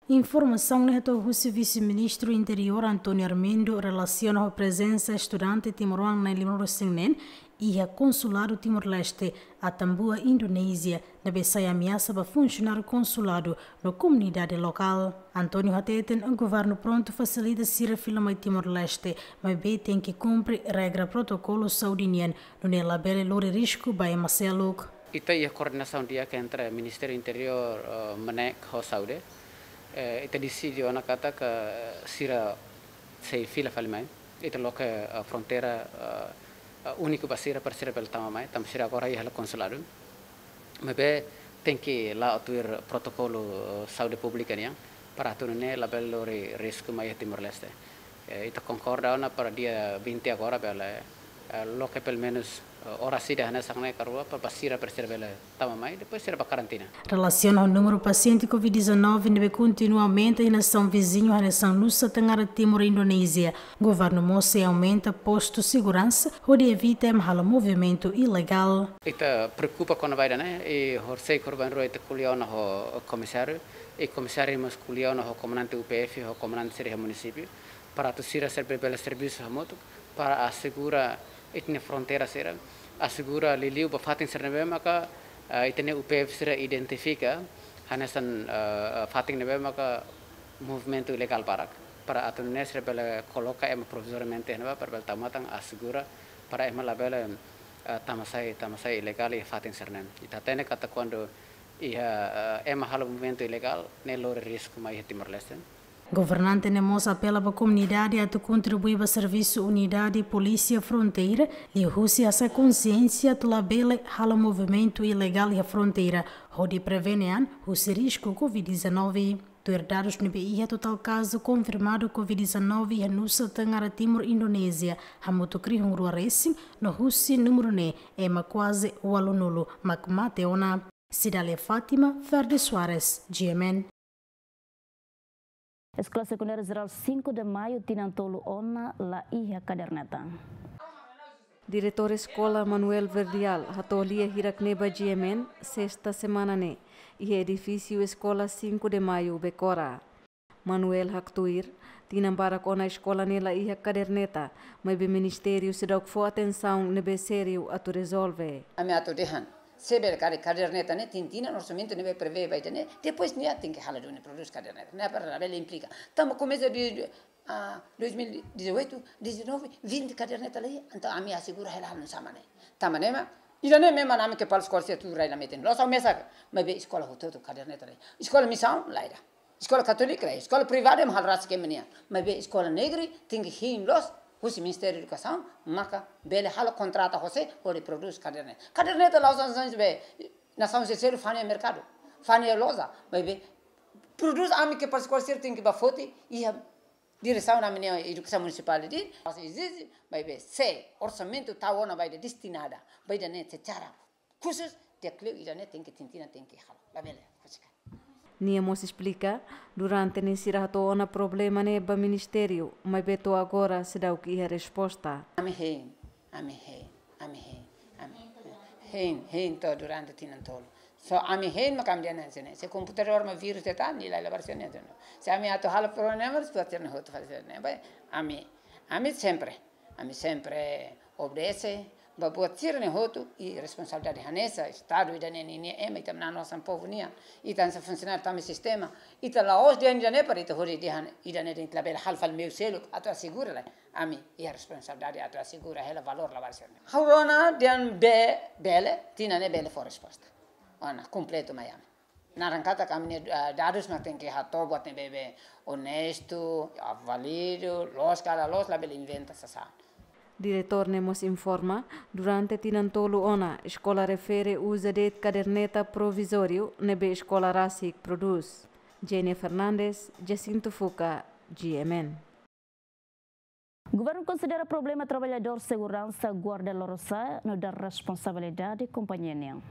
Informasaun ne'e hato'o husi Vise-Ministru Interiór António Armindo relasiona ho prezensa estudante timoroan na'in limanulu resin neen iha Konsuladu Timor-Leste Atambua, Indonézia, ne'ebé sai ameasa ba funsionáriu konsuladu no komunidade lokál. António hateten governu prontu fasilita sira fila mai Timor-Leste, maibé tenke kumpre regra protokolu saúde nian, nune'e labele lori risku ba ema seluk. Ita iha koordenasaun di'ak entre Ministériu Interiór, eh, MNEK ho Saúde. Eh, ita deside ona katak sira sei fila fali mai. Ita loke, eh, fronteira, eh, eh, úniku ba sira, para sira bele tama mai, tanba sira agora iha hela konsuladu. Maibé tenke la'o tuir protokolu, eh, saúde públika nian, para atu nune'e labele lori risku mai iha Timor-Leste. Eh, ita konkorda ona para dia vinte agora bele, eh, loke pelumenus, eh, oras ida hanesan ne'e ka rua para ba sira, para sira bele tama mai, depois sira ba karantina. Relasiona ho númeru pasiente covid dezanove ne'ebé kontinua aumenta iha nasaun viziñu hanesan Nusa Tenggara Timur, Indonézia, governu mós sei aumenta postu seguransa hodi evita ema halo movimentu ilegál. Ita preokupa kona-ba ida-ne'e, i horisehik horibainrua ita ko'alia ona ho komisáriu, i komisáriu mós ko'alia ona ho komandante U P F, ho komandante sira iha munisípiu, Para atu sira serve bele servisu hamutuk, para asegura ita-nia fronteira sira, asegura liuliu ba fatin sira ne'ebé maka, ah, ita-nia U P F sira identifika, hanesan, ah, fatin ne'ebé maka movimentu ilegál barak, para atu nune'e sira bele koloka ema provizoriamente ne'ebá, para bele tau matan asegura, para ema labele, ah, tama sai, tama sai ilegál iha fatin sira-ne'e. Ita hatene katak kuandu iha, ah, ema halo movimentu ilegál, ne'e lori risku mai iha Timor-Leste. Governante ne'e mós apela ba komunidade atu kontribui ba servisu unidade polísia fronteira, liuhusi hasa'e konsiénsia atu labele halo movimentu ilegál iha fronteira, hodi prevene an husi risku covid dezanove. Tuir dadus ne'ebé iha, totál kazu konfirmadu covid dezanove iha Nusa Tenggara Timur, Indonézia, hamutuk rihun rua resin, no husi númeru ne'e ema kuaze ualunulu mak mate ona. Cidália Fátima, Ferdi Soares, G M N. Eskola Sekundária Jerál Cinco de Maio tinan tolu ona la iha kaderneta. Diretór Eskola Manuel Verdial hato'o lia hirak ne'e ba G M N, sesta semana ne'e, iha edifísiu Eskola Cinco de Maio Becora. Manuel haktuir, tinan barak ona eskola ne'e la iha kaderneta, maibé ministériu seidauk fó atensaun ne'ebé sériu atu rezolve. Ami atu dehan, se bele karik kaderneta ne'e, tinan-tinan orsamentu ne'ebé prevee ba ida-ne'e, depois nia tenke halo duni prodús kaderneta, ne'e para labele implika. Tanba komesa de, ah, dois mil e dezoito, dezanove, vinte kaderneta la iha, entaun ami asegura hela halo nu'usá mak ne'e. Tanba ne'e mak, ida-ne'e memang ami kepala eskola sira tuur rai la metin. Loos ha'u mesak, maibé eskola hotu-hotu kaderneta la iha. Eskola misaun la iha. Eskola katólika la iha, eskola privada ema halo rasik ema nian. Maibé eskola negre tenke hein loos husi Ministériu Edukasaun, maka bele halo kontrata ho sé hodi prodús kaderneta. Kaderneta la'ós hanesan be nasaun seluk fa'an iha merkadu, fa'an iha loja, maibé prodús ami kepala eskola sira tenke bá foti iha diresaun ami-nia edukasaun munisipál de'it, mas ezije, maibé se orsamentu tau ona ba ida destinada ba ida-ne'e secara khusus, di'ak liu ida-ne'e tenke tinan-tinan tenke halo. Labele husik. Nia mós esplika, durante ne'e sira hato'o ona problema ne'e ba ministériu, maibé to'o agora seidauk iha resposta. Ami hein, ami hein, ami hein, ami hein, hein to'o durante tinan tolu. Só ami hein mak ami dehan hanesan ne'e. Se komputadór mak vírus de'it, nia la iha labarik sira-ne'e. Se ami atu halo problema, buat sira-ne'e hotu fali sira-ne'e. Ba, ami, ami sempre, ami sempre obedese ba buat sira-ne'e hotu, i responsabilidade hanesan Estadu ida-ne'e ninia ema, ita manán hanesan povu nian, ita hanesan funsionáriu tama iha sistema, ita la'ós dehan ida-ne'e para ita hodi dehan ida-ne'e dehan ita labele halo fali meiu seluk atu asegura, lae. Ami iha responsabilidade atu asegura hela valór labarik sira-ne'e. Ha'u rona dehan be, bele, tinan ne'e bele fó resposta ona kompletu mai ami. Naran katak ami-nia, eh, dadus mak tenke hato'o buat ne'ebé onestu, válidu, loos ka la loos, labele inventa sasán. Diretór ne'e mós informa, durante tinan tolu ona, eskola refere uza de'it kaderneta provizóriu ne'ebé eskola rasik prodús. Jenia Fernandes, Jacinto Fuca, G M N. Governu konsidera problema traballadór seguransa guarda lorosa'e nu'udar responsabilidade kompañia nian.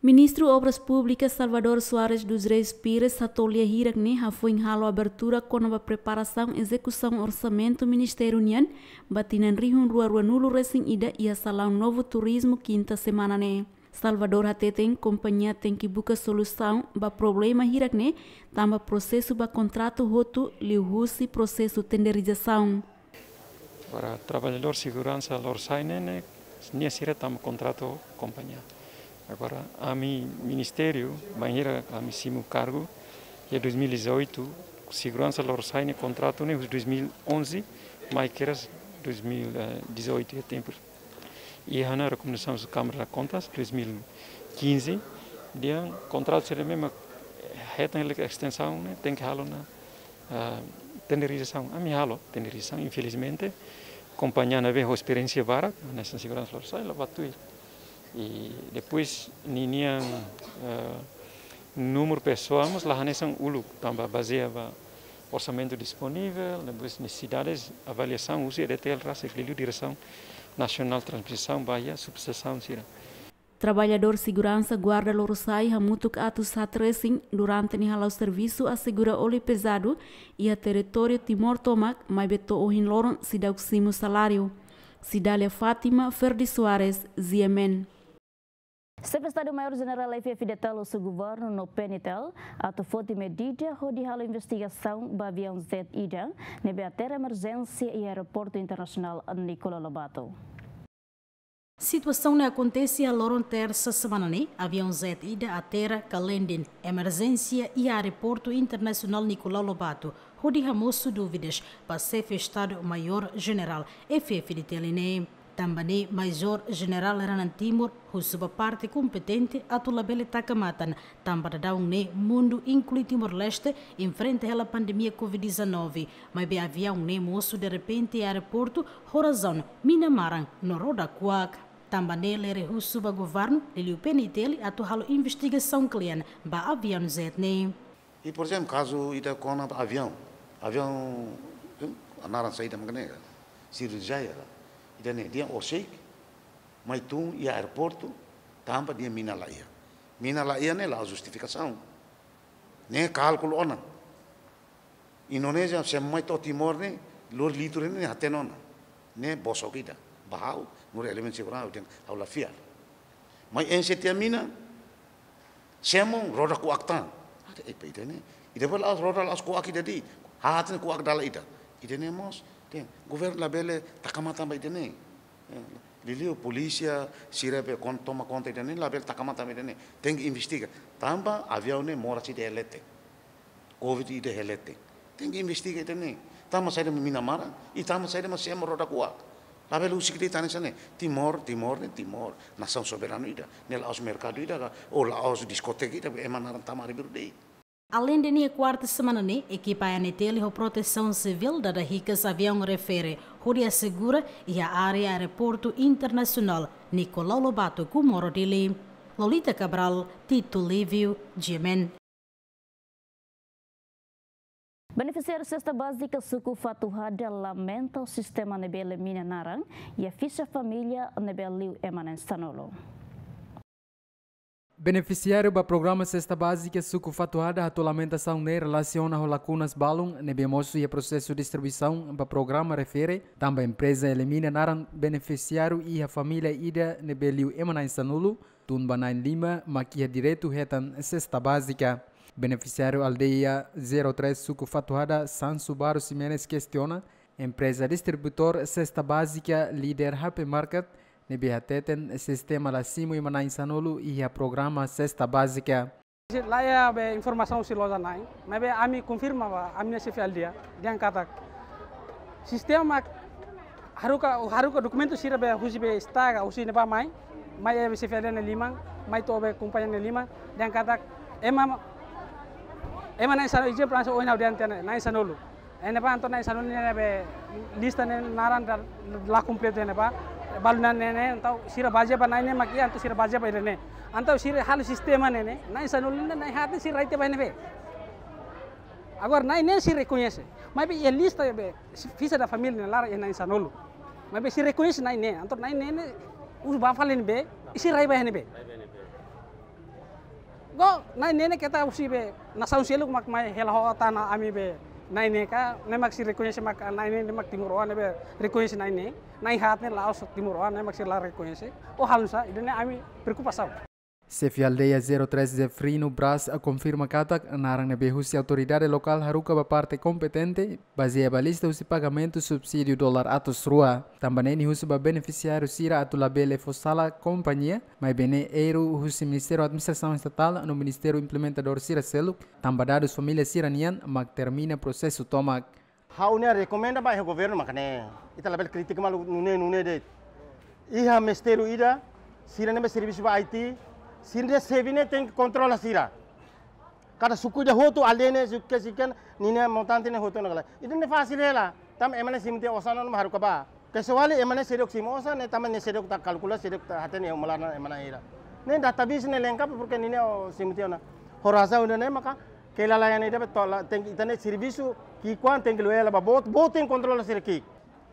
Ministru Obras Públikas Salvador Soares dos Reis Pires hato'o lia hirak ne'e hafoin halo abertura kona-ba preparasaun ezekusaun orsamentu ministériu nian ba tinan rihun rua ruanulu resin ida iha Salaun Novo Turizmu, kinta semana ne'e. Salvador hateten kompañia tenke buka solusaun ba problema hirak ne'e, tanba prosesu ba kontratu hotu liuhusi prosesu tenderizasaun. Para traballadór seguransa lorosa'e ne'e, nia sira tama kontratu kompañia. Agora, ami ministériu, bainhira ami simu kargu, iha dois mil e dezoito, seguransa lorosa'e ne'e kontratu ne'e husi dois mil e onze, mai kedas dois mil e dezoito iha tempu. Iha ona rekomendasaun husi Câmara de Contas, dois mil e quinze, dehan kontratu sira ne'ebé mak hetan hela estensaun ne'e, tenke halo ona, ah, tenderizasaun. Ami halo tenderizasaun, infelizmente, kompañia ne'ebé ho esperiénsia barak hanesan seguransa lorosa'e, la bá tuir. I depois, ninian, ah, númeru pesoál mós la hanesan uluk, tanba bazeia ba orsamentu disponivel, depois nesesidades, avaliasaun husi E D T L rasik, liuliu Diresaun Nasionál Transmisaun ba iha subestasaun sira. Traballadór seguransa guarda lorosa'e hamutuk atus haat resin durante ne'e hala'o servisu asegura óleu pezadu iha territóriu Timor tomak, maibé to'o ohin loron seidauk simu saláriu. Cidália Fátima, Ferdi Soares, G M N. Xefe Estadu Maiór Jenerál F F D T L husu governu no P N T L atu foti medida hodi halo investigasaun ba aviaun jet ida ne'ebé hatera emerjénsia iha Aeroportu Internasionál Nicolau Lobato. Situasaun ne'e akontese iha loron tersa semana ne'e, aviaun jet ida hatera ka landing emerjénsia iha Aeroportu Internasionál Nicolau Lobato, hodi hamosu dúvidas ba Xefe Estadu Maiór Jenerál F F D T L ne'e. Tanba ne'e, Majór Jenerál Renan Timor husu ba parte kompetente atu labele taka matan, tanba daudaun ne'e mundu, inklui Timor-Leste, enfrenta hela pandemia covid dezanove, maibé aviaun ne'e mosu derrepente iha aeroportu ho razaun mina-maran no roda kuak. Tanba ne'e, Lere husu ba governu, liuliu P N T L, atu halo investigasaun kle'an ba aviaun jet ne'e. I, por ezemplu, kazu ida kona-ba aviaun. Aviaun, eh, naran saida mak ne'e, Sriwijaya ka. Ida-ne'e, dehan orsida mai tun iha aeroportu tanba dehan mina la iha. Mina la iha ne'e la'ós justifikasaun. Ne'e kálkulu ona. Indonézia semo mai to'o Timor ne'e, lori litru ne'e hatene ona. Ne'e bosok ida. Ba ha'u, nu'udar elementu seguransa, ha'u dehan ha'u la fiar. Mai enxe tiha mina, semo, roda kuak tan. Ade, eh, ida-ne'e. Ida-ne'e la'ós roda, la'ós kuak ida de'it. Haat ne'e kuak dala ida. Ida-ne'e mós, dehan governu labele taka matan ba ida-ne'e. Eh, liuliu polísia sira be kon-, toma konta ida-ne'e, labele taka matan ba ida-ne'e. Tenke investiga. Tanba aviaun ne'e moras ida iha leten. Covid ida iha leten. Tenke investiga ida-ne'e. Tanba saida mina-maran, i tanba saida mak semo roda kuak. Labele husik de'it hanesan ne'e. Timor, Timor ne'e Timor. Nasaun soberanu ida. Ne'e la'ós merkadu ida ka, ou la'ós diskoteka ida, ema naran tama ari biru de'it. Aleinde ne'e, kuarta semana ne'e, ekipa A N T L ho Protesaun Sivíl dada hikas aviaun refere hodi asegura iha área Aeroportu Internasionál Nicolau Lobato, Comoro, Dili. Lolita Cabral, Tito Livio, G M N. Benefisiáriu Sesta Bázika Suku Fatuhada lamenta sistema ne'ebé elimina naran iha fixa família ne'ebé liu ema na'in sanulu. Benefisiáriu ba programa Sesta Bázika Suku Fatuhada hato'o lamentasaun ne'e relasiona ho lakunas balun ne'ebé mosu iha prosesu distribuisaun ba programa refere, tanba empreza elimina naran benefisiáriu iha família ida ne'ebé liu ema na'in sanulu, tun ba na'in lima mak iha direitu hetan sesta bázika. Benefisiáriu aldeia zero três Suku Fatuhada, Sansu Baro Ximenes, kestiona empreza distribuidór sesta bázika, Líder Hypermarket, ne'ebé hateten sistema la simu ema na'in sanulu iha programa sesta bázika. Laiha be informasaun husi loja na'in, maibé ami konfirma ba ami-nia xefe aldeia, dehan katak sistema haruka, haruka dokumentu sira be husi be estaga, husi ne'ebá mai, mai iha be xefe aldeia nia liman, mai to'o be kompañia nia liman, dehan katak ema, ema na'in sanulu, ijin pransa oin ha'u dehan tiha ne'e, na'in sanulu. Iha ne'ebá entaun na'in sanulu ne'e be lista ne'e naran da-, la kompletu iha ne'ebá. Balu na'in ne'e, entaun sira bazeia ba na'in ne'e mak iha, entaun sira bazeia ba ida-ne'e. Entaun sira halo sistema ne'e, na'in sanulu ne'e, na'in haat ne'e sira rai tiha ba iha ne'ebé. Agora na'in ne'e sira rekoñese. Maibé iha lista be, fixa da família ne'e laran iha na'in sanulu. Maibé sira rekoñese na'in ne'e, entaun na'in ne'e ne'e, husu ba fali ne'ebé, i sira rai ba iha ne'ebé. Go, na'in ne'e ne'e keta husi be, nasaun seluk mak mai hela ho tana ami be, na'in ne'e ka, ne'e mak sira rekoñese mak, na'in ne'e ne'e mak timoroan ne'ebé rekoñese na'in ne'e, na'in haat ne'e la'ós timoroan, ne'e mak sira la rekoñese, ou halo nusá, ida-ne'e ami preokupasaun. Xefe aldeia zero três Zefrino Braz konfirma katak naran ne'ebé husi autoridade lokál haruka ba parte kompetente, bazeia ba lista husi pagamentu subsídiu dolar atus rua. Tanba ne'e nia husu ba benefisiáriu sira atu labele fó sala kompañia, maibé ne'e erru husi Ministériu Administrasaun Estatál no Ministériu Implementadór sira seluk, tanba dadus família sira-nian mak termina prosesu tomak. Ha'u-nia rekomenda ba iha governu mak ne'e, ita labele kritika malu nune'e nune'e de'it. Iha ministériu ida, sira ne'ebé servisu ba I T, sira-nia xefe ne'e tenke kontrola sira. Kada suku ida hotu, aldeia ne'e, suku ke sikan, ninia montante ne'e hotu ona kala. Ida-ne'e fasil hela, tanba ema ne'e simu tiha osan ona mak haruka ba. Kecuali ema ne'e seidauk simu osan, ne'e tanba ne'e seidauk ita kalkula, seidauk ita hatene iha uma laran ema ne'e hira. Ne'e database ne'e lengkap, porke ninia simu tiha ona. Ho razaun ida-ne'e maka, kelalaian ida be tola, tenke ita-nia servisu, ki'ikoan tenke lori hela ba boot, boot tenke kontrola sira ki'ik.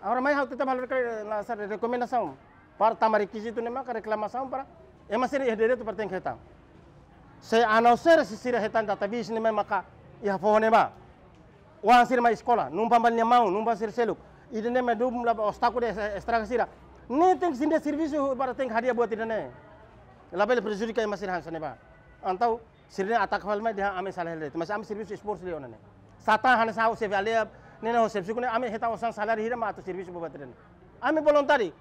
Agora mai ha'u tetap halo rekla-, la sar rekomendasaun. Para tanba rekizitu ne'e maka reklamasaun para ema sira iha direitu para tenke hetan. Se a não ser se sira hetan database ne'e mai maka iha foho ne'ebá. Oan sira mai eskola, numpang ba nia maun, numpang sira seluk. Ida-ne'e mai dum laba obstákulu de estraga sira. Ne'e tenke sira-nia servisu para tenke hadi'a buat ida-ne'e. Labele prejudika ema sira hanesan ne'ebá. Entaun sira-ne'e ataka fali mai dehan ami sala hela de'it. Mas ami servisu esforsu liu ona ne'e. Sá tan hanesan ha'u xefe aldeia, ne'e ne'e ho servisu ne'e ami hetan osan saláriu hira mak atu servisu buat ida-ne'e. Ami voluntáriu.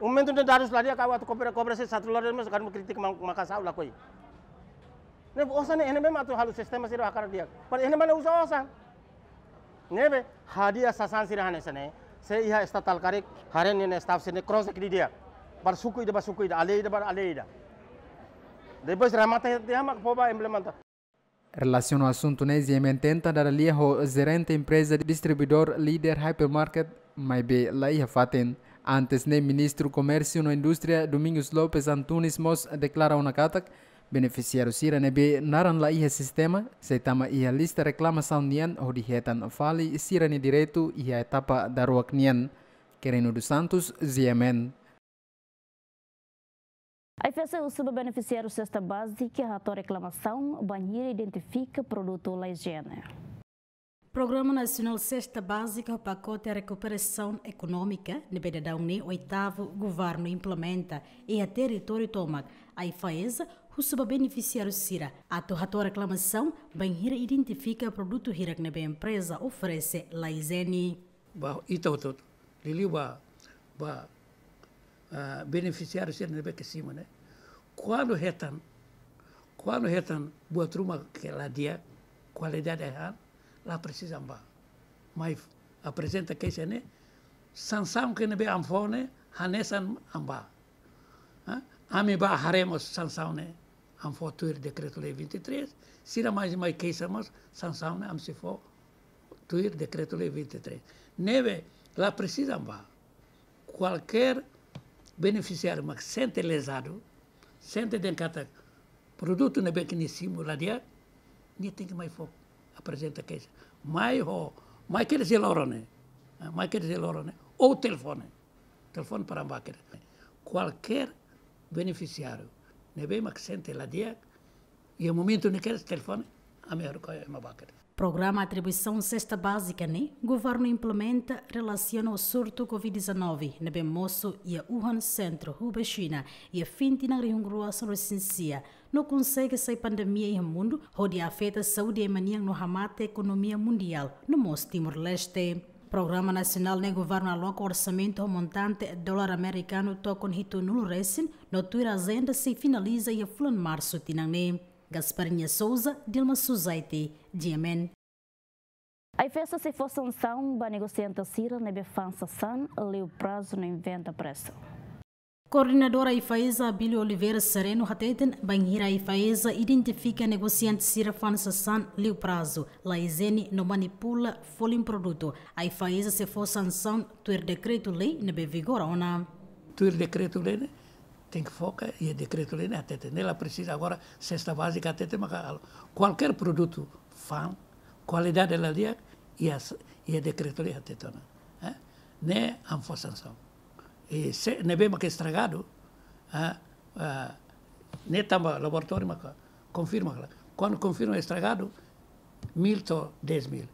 Momentu ne'e dadus la di'ak, ha'u atu kobra, kobra se satu lore mas kadang kritika ma-, maka sá lakohi. Ne'e osan ne'e, ne'e memang atu halo sistema sira hakarak di'ak. Para ne'e mak ne'e uza osan. Ne'ebé hadi'a sasán sira hanesan ne'e, se iha estatal karik, haree nia staff sira-ne'e cross didi'ak. Ba suku ida, ba suku ida, aldeia ida, ba aldeia ida. Depois remata tiha mak fó ba implementa. Relasiona ho asuntu ne'e, GMN tenta dada lia ho jerente empreza distribuidór Líder Hypermarket, maibé la iha fatin. Antes ne'e, Ministru Komérsiu no Indústria Domingos Lopes Antunes mós deklara ona katak benefisiáriu sira ne'ebé naran la iha sistema, sei tama iha lista reklamasaun nian hodi hetan fali sira-nia direitu iha etapa daruak nian. Quirino dos Santos, GMN. AIFAESA husu ba benefisiáriu sesta bázika hato'o reklamasaun bainhira identifika produtu la ijiene. Programa Nasionál Sesta Bázika ho pakote rekuperasaun ekonómika ne'ebé daudaun ne'e oitavu governu implementa iha territóriu tomak, AIFAESA husu ba benefisiáriu sira atu hato'o reklamasaun bainhira identifika produtu hirak ne'ebé empreza oferese la ijiene. Ba ita hotu-hotu, liuliu ba, ba, ah, benefisiáriu sira ne'ebé ke simu ne'e. Kuandu hetan, kuandu hetan buat ruma ke la di'ak, kualidade han, la presiza an bá. Mai aprezenta keixa ne'e, sansaun ke ne'ebé an fó ne'e, hanesan an bá. Ha? Ami bá haree mós sansaun ne'e, an fó tuir dekretu-lei vinte e três, sira mai, mai keixa mós, sansaun ne'e, ami sei fó tuir dekretu-lei vinte e três. Ne'ebé la presiza an bá. Kualkér benefisiáriu mak sente lezadu, sente dehan katak produtu ne'ebé ke nia simu la di'ak, nia tenke mai fó, aprezenta keixa. Mai ho, mai kedas iha loron ne'e. Ah, mai kedas iha loron ne'e. Ou telefone. Telefone para an bá kedas. Kualkér benefisiáriu ne'ebé mak sente la di'ak, iha momentu ne'e kedas telefone, ami haruka ema bá kedas. Programa atribuisaun sesta bázika ne'e governu implementa relasiona ho surtu covid dezanove ne'ebé mosu iha Wuhan, sentru Hubei, Xina, iha fin tinan rihun rua sanulu-resin-sia, no konsege sai pandemia iha mundu hodi afeta saúde ema nian no hamate ekonomia mundiál no mós Timor-Leste. Programa nasionál ne'e governu aloka orsamentu ho montante dolar amerikanu tokon hitunulu-resin, no tuir ajenda sei finaliza iha fulan Marsu tinan ne'e. Gasparinha Souza, Dilma Suzaiti, GMN. AIFAESA sei fó sansaun ba negosiante sira ne'ebé fa'an sasán liu prazu no inventa presu. Koordenadór AIFAESA Abílio Oliveira Sereno hateten, bainhira AIFAESA identifika negosiante sira fa'an sasán liu prazu, la ijiene no manipula folin produtu, AIFAESA sei fó sansaun tuir dekretu-lei ne'ebé vigora ona. Tuir dekretu-lei ne'e, tenke foka iha dekretu-lei ne'e hateten. Ne'e la presiza agora sesta bázika hateten maka halo. Kualkér produtu fa'an, kualidade la di'ak, iha s-, iha dekretu-lei hateten ona. Eh? Ne'e an fó sansaun. I se ne'ebé maka estragadu, ah, ah, ne'e tanba laboratóriu maka konfirma kala. Kuandu konfirma estragadu, mil to'o dez mil.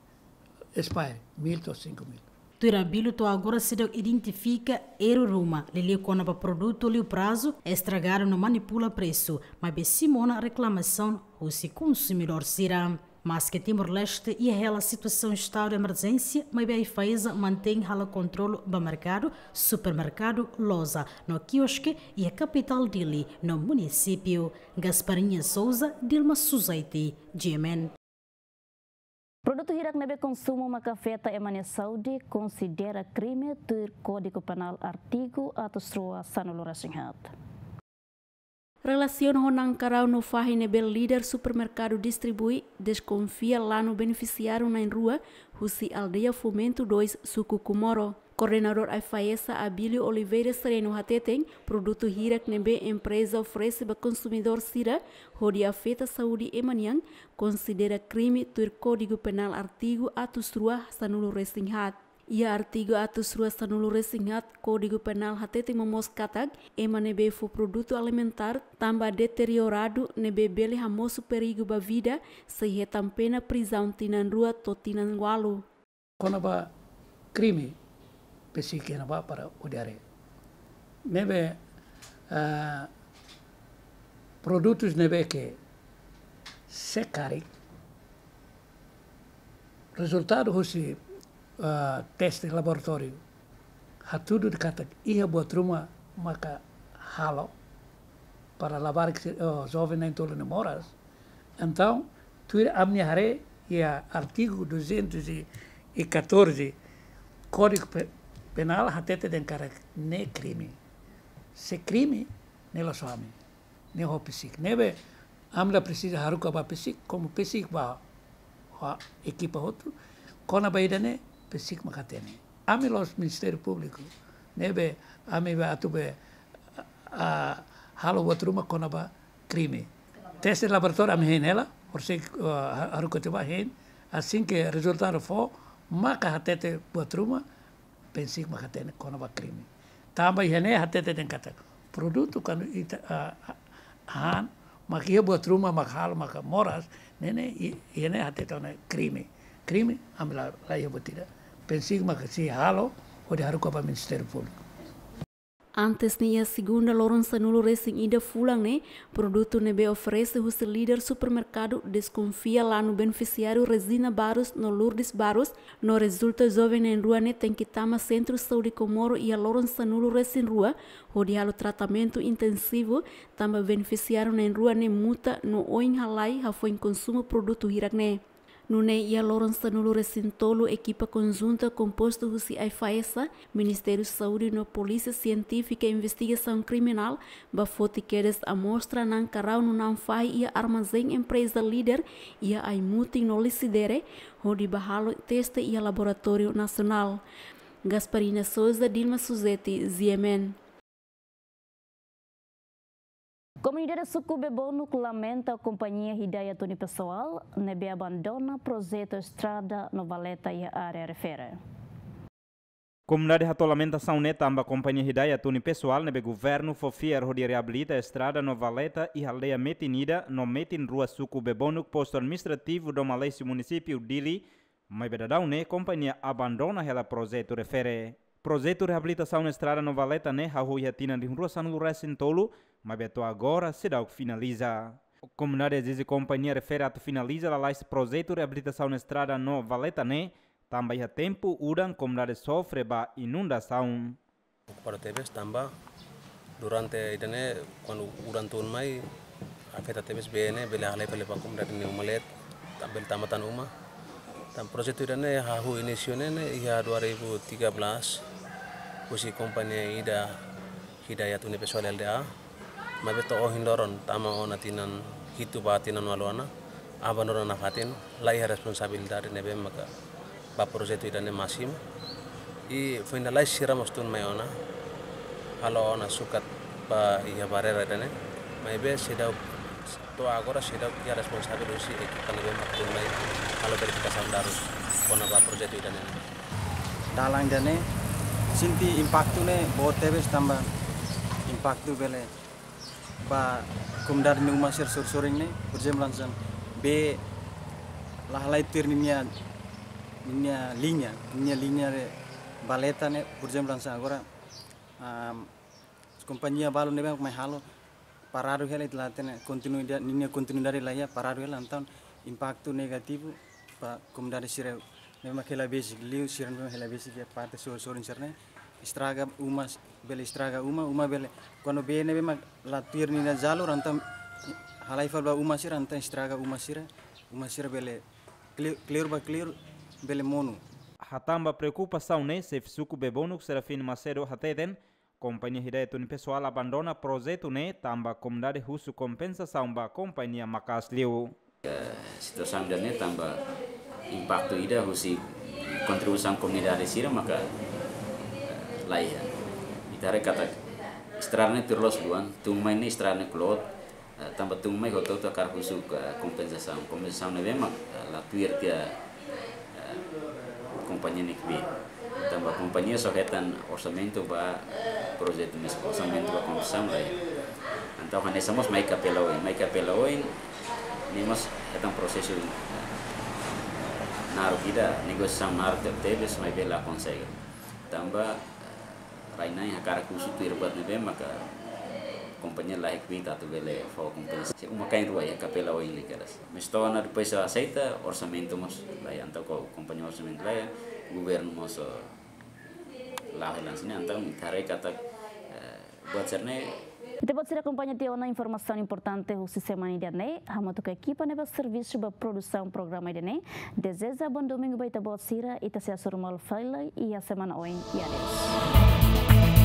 Expire, mil to'o cinco mil. Tuir Abílio, to'o agora seidauk identifika erru ruma, liuliu kona-ba produtu liu prazu, estragadu no manipula presu, maibé simu ona reklamasaun husi konsumidór sira. Maske Timor-Leste iha hela situasaun estadu de emerjénsia, maibé AIFAESA mantein halo kontrolu ba merkadu, supermerkadu, loja no kioske iha kapitál Dili no munisípiu. Gasparinha Souza, Dilma Suzaiti, GMN. Produtu hirak ne'ebé konsumu maka afeta ema nia saúde konsidera krime tuir Kódigu Penál artigu atus rua sanulu-resin-haat. Relasiona ho nankarau no fahi ne'ebé líder supermerkadu distribui, deskonfia lanu benefisiáriu na'in-rua husi aldeia Fomento dois, suku Comoro. Koordenadór AIFAESA Abílio Oliveira Sereno hateten, produtu hirak ne'ebé empreza oferese ba konsumidór sira hodi afeta saúde ema nian, konsidera krime tuir Kódigu Penál artigu atus rua sanulu-resin-haat. Iha artigu atus rua sanulu-resin-haat Kódigu Penál hateten momoos katak, ema ne'ebé fó produtu alimentár tanba deterioradu ne'ebé bele hamosu perigu ba vida, sei hetan pena prizaun tinan rua to'o tinan ualu. Kona-ba krime, pesi kena ba para odiare. Ne'ebé, ah, Produtus ne'ebé ke sei karik, rezultadu husi, ah, teste laboratóriu hatudu katak iha buat ruma maka halo para labarik, oh, joven na'in-tolu ne'e moras. Entaun, tuir ami-nia haree iha artigu duzentos e catorze Kódigu Pe-, Penál hatete dehan katak ne'e krime. Se krime, ne'e la'ós ami, ne'e ho PCIC. Ne'ebé ami la presiza haruka ba PCIC, komu PCIC ba ho ekipa hotu, kona-ba ida-ne'e PCIC mak hatene. Ami la'ós Ministériu Públiku, ne'ebé ami ba atu be, ah, halo buat ruma kona-ba krime. Teste laboratóriu ami hein hela, horisehik, ah, haruka tiha ba hein, asin ke rezultadu fó, maka hatete buat ruma, PCIC mak hatene kona-ba krime. Tanba iha ne'e hatete dehan katak produtu kuandu ita, ah, ah, han, mak iha buat ruma mak halo maka moras, ne'e ne'e i-, iha ne'e hatete ona krime. Krime, ami la, la iha buat ida. PCIC mak sei halo, hodi haruka ba Ministériu Públiku. Antes ne'e iha segunda loron sanulu-resin-ida fulan ne'e, produtu ne'ebé oferese husi líder supermerkadu deskonfia lanu benefisiáriu Regina Barros no Lourdes Barros, no rezulta joven na'in-rua ne'e tenke tama Sentru Saúde Comoro iha loron sanulu-resin-rua, hodi halo tratamentu intensivu, tanba benefisiáriu na'in-rua ne'e muta no oin halai hafoin konsumu produtu hirak-ne'e. Nune'e iha loron sanulu-resin-tolu ekipa konjunta kompostu husi AIFAESA, Ministériu Saúde no Polísia Sientífika Investigasaun Kriminál, ba foti kedas amostra na'an karau no na'an fahi iha armazén empreza líder iha Aimutin no Lisidere, hodi ba halo teste iha laboratóriu nasionál. Gasparina Souza, Dilma Suzeti, G M N. Komunidade Suku Bebonuk lamenta kompañia Hidayat Unipessoal ne'ebé abandona projetu estrada no valeta iha área refere. Komunidade hato'o lamentasaun ne'e tanba kompañia Hidayat Unipessoal ne'ebé governu fó fiar hodi reabilita estrada no valeta iha aldeia Metin ida no Metin rua, suku Bebonuk, postu administrativu Dom Aleixo, munisípiu Dili, maibé daudaun ne'e kompañia abandona hela projetu refere. Projetu reabilitasaun estrada no valeta ne'e hahú iha tinan rihun rua sanulu-resin-tolu, maibé to'o agora seidauk finaliza. Komunidade ezije kompañia refere atu finaliza lalais projetu reabilitasaun estrada no valeta ne'e, tanba iha tempu udan komunidade sofre ba inundasaun. Preokupadu tebes tanba durante ida-ne'e kuandu udan tun mai afeta tebes bee ne'e bele halai fali ba komunidade nia uma leet, ta-, bele tama tan uma. Tan projetu ida-ne'e hahú inísiu ne'e, ne'e iha dua ribu tiga belas, husi kompañia ida Hidayat Unipessoal L D A, maibé to'o ohin loron tama ona tinan hitu ba tinan ualu ona, abandona nafatin, la iha responsabilidade ne'ebé maka ba projetu ida-ne'e másimu. I foin lalais sira mós tun mai ona, halo ona sukat ba iha barreira ida-ne'e, maibé seidauk, to'o agora seidauk iha responsavel husi ekipa ne'ebé mak tun mai halo verifikasaun darus kona-ba projetu ida-ne'e. Dalan ida-ne'e sente impaktu ne'e boot tebes tanba impaktu bele ba komunidade nia uma sira sorin-sorin ne'e, por ezemplu, hanesan bee la halai tuir ninia, ninia liña, ninia liña de valeta ne'e, por ezemplu, hanesan agora, am, kompañia balu ne'ebé mai halo, paradu hela, ita la hatene kontinuida-, ninia kontinuidade la iha, paradu hela, entaun impaktu negativu ba komunidade sira ne'ebé mak hela besik, liu sira ne'ebé mak hela besik iha parte sorin-sorin sira-ne'e, estraga uma, bele estraga uma, uma bele, kuandu bee ne'ebé mak la tuir ninia jalur, entaun halai fali ba uma sira, entaun estraga uma sira, uma sira bele kli-, kleur ba kleur bele monu. Hatán ba preokupasaun ne'e, xefe suku Bebonuk Serafim Macedo hateten, kompañia Hidayat Unipessoal abandona projetu ne'e tanba komunidade husu kompensasaun ba kompañia maka'as liu. Eh, situasaun ida-ne'e tanba impaktu ida husi kontribuisaun komunidade sira maka, eh, la iha. Ita haree katak estrada ne'e tuir loos luan, tun mai ne'e estrada ne'e kloot, eh, tanba tun mai hotu-hotu hakarak husu, eh, kompensasaun. Kompensasaun ne'ebé mak, eh, la tuir tiha, eh, kompañia ne'ebé. Tanba kompañia só hetan orsamentu ba projetu mezmu, orsamentu ba konstrusaun la iha. Entaun hanesan mós mai KPLA oin, mai KPLA oin, ne'e mós hetan prosesu, eh, naruk ida, negosiasaun naruk tebetebes, maibé la konsege. Tanba, eh, rai-na'in hakarak husu tuir buat ne'ebé maka Kompañia la hek bita atu bele fó kompensa. Se uma kain rua iha kapela oin li kedas. Mas to'o ona depois aseita orsamentu mós. Lae, entaun ko kompañia orsamentu lae, governu mós, eh, la helan sini, entaun ita haree katak, eh, buat sira-ne'e. Ita-boot sira akompaña tiha ona informasaun importante husi semana ida-ne'e, hamutuk ho ekipa ne'ebé servisu ba produsaun programa ida-ne'e. Dezeja bom domingu ba ita-boot sira, ita sei hasoru malu fali iha semana oin. I adeus.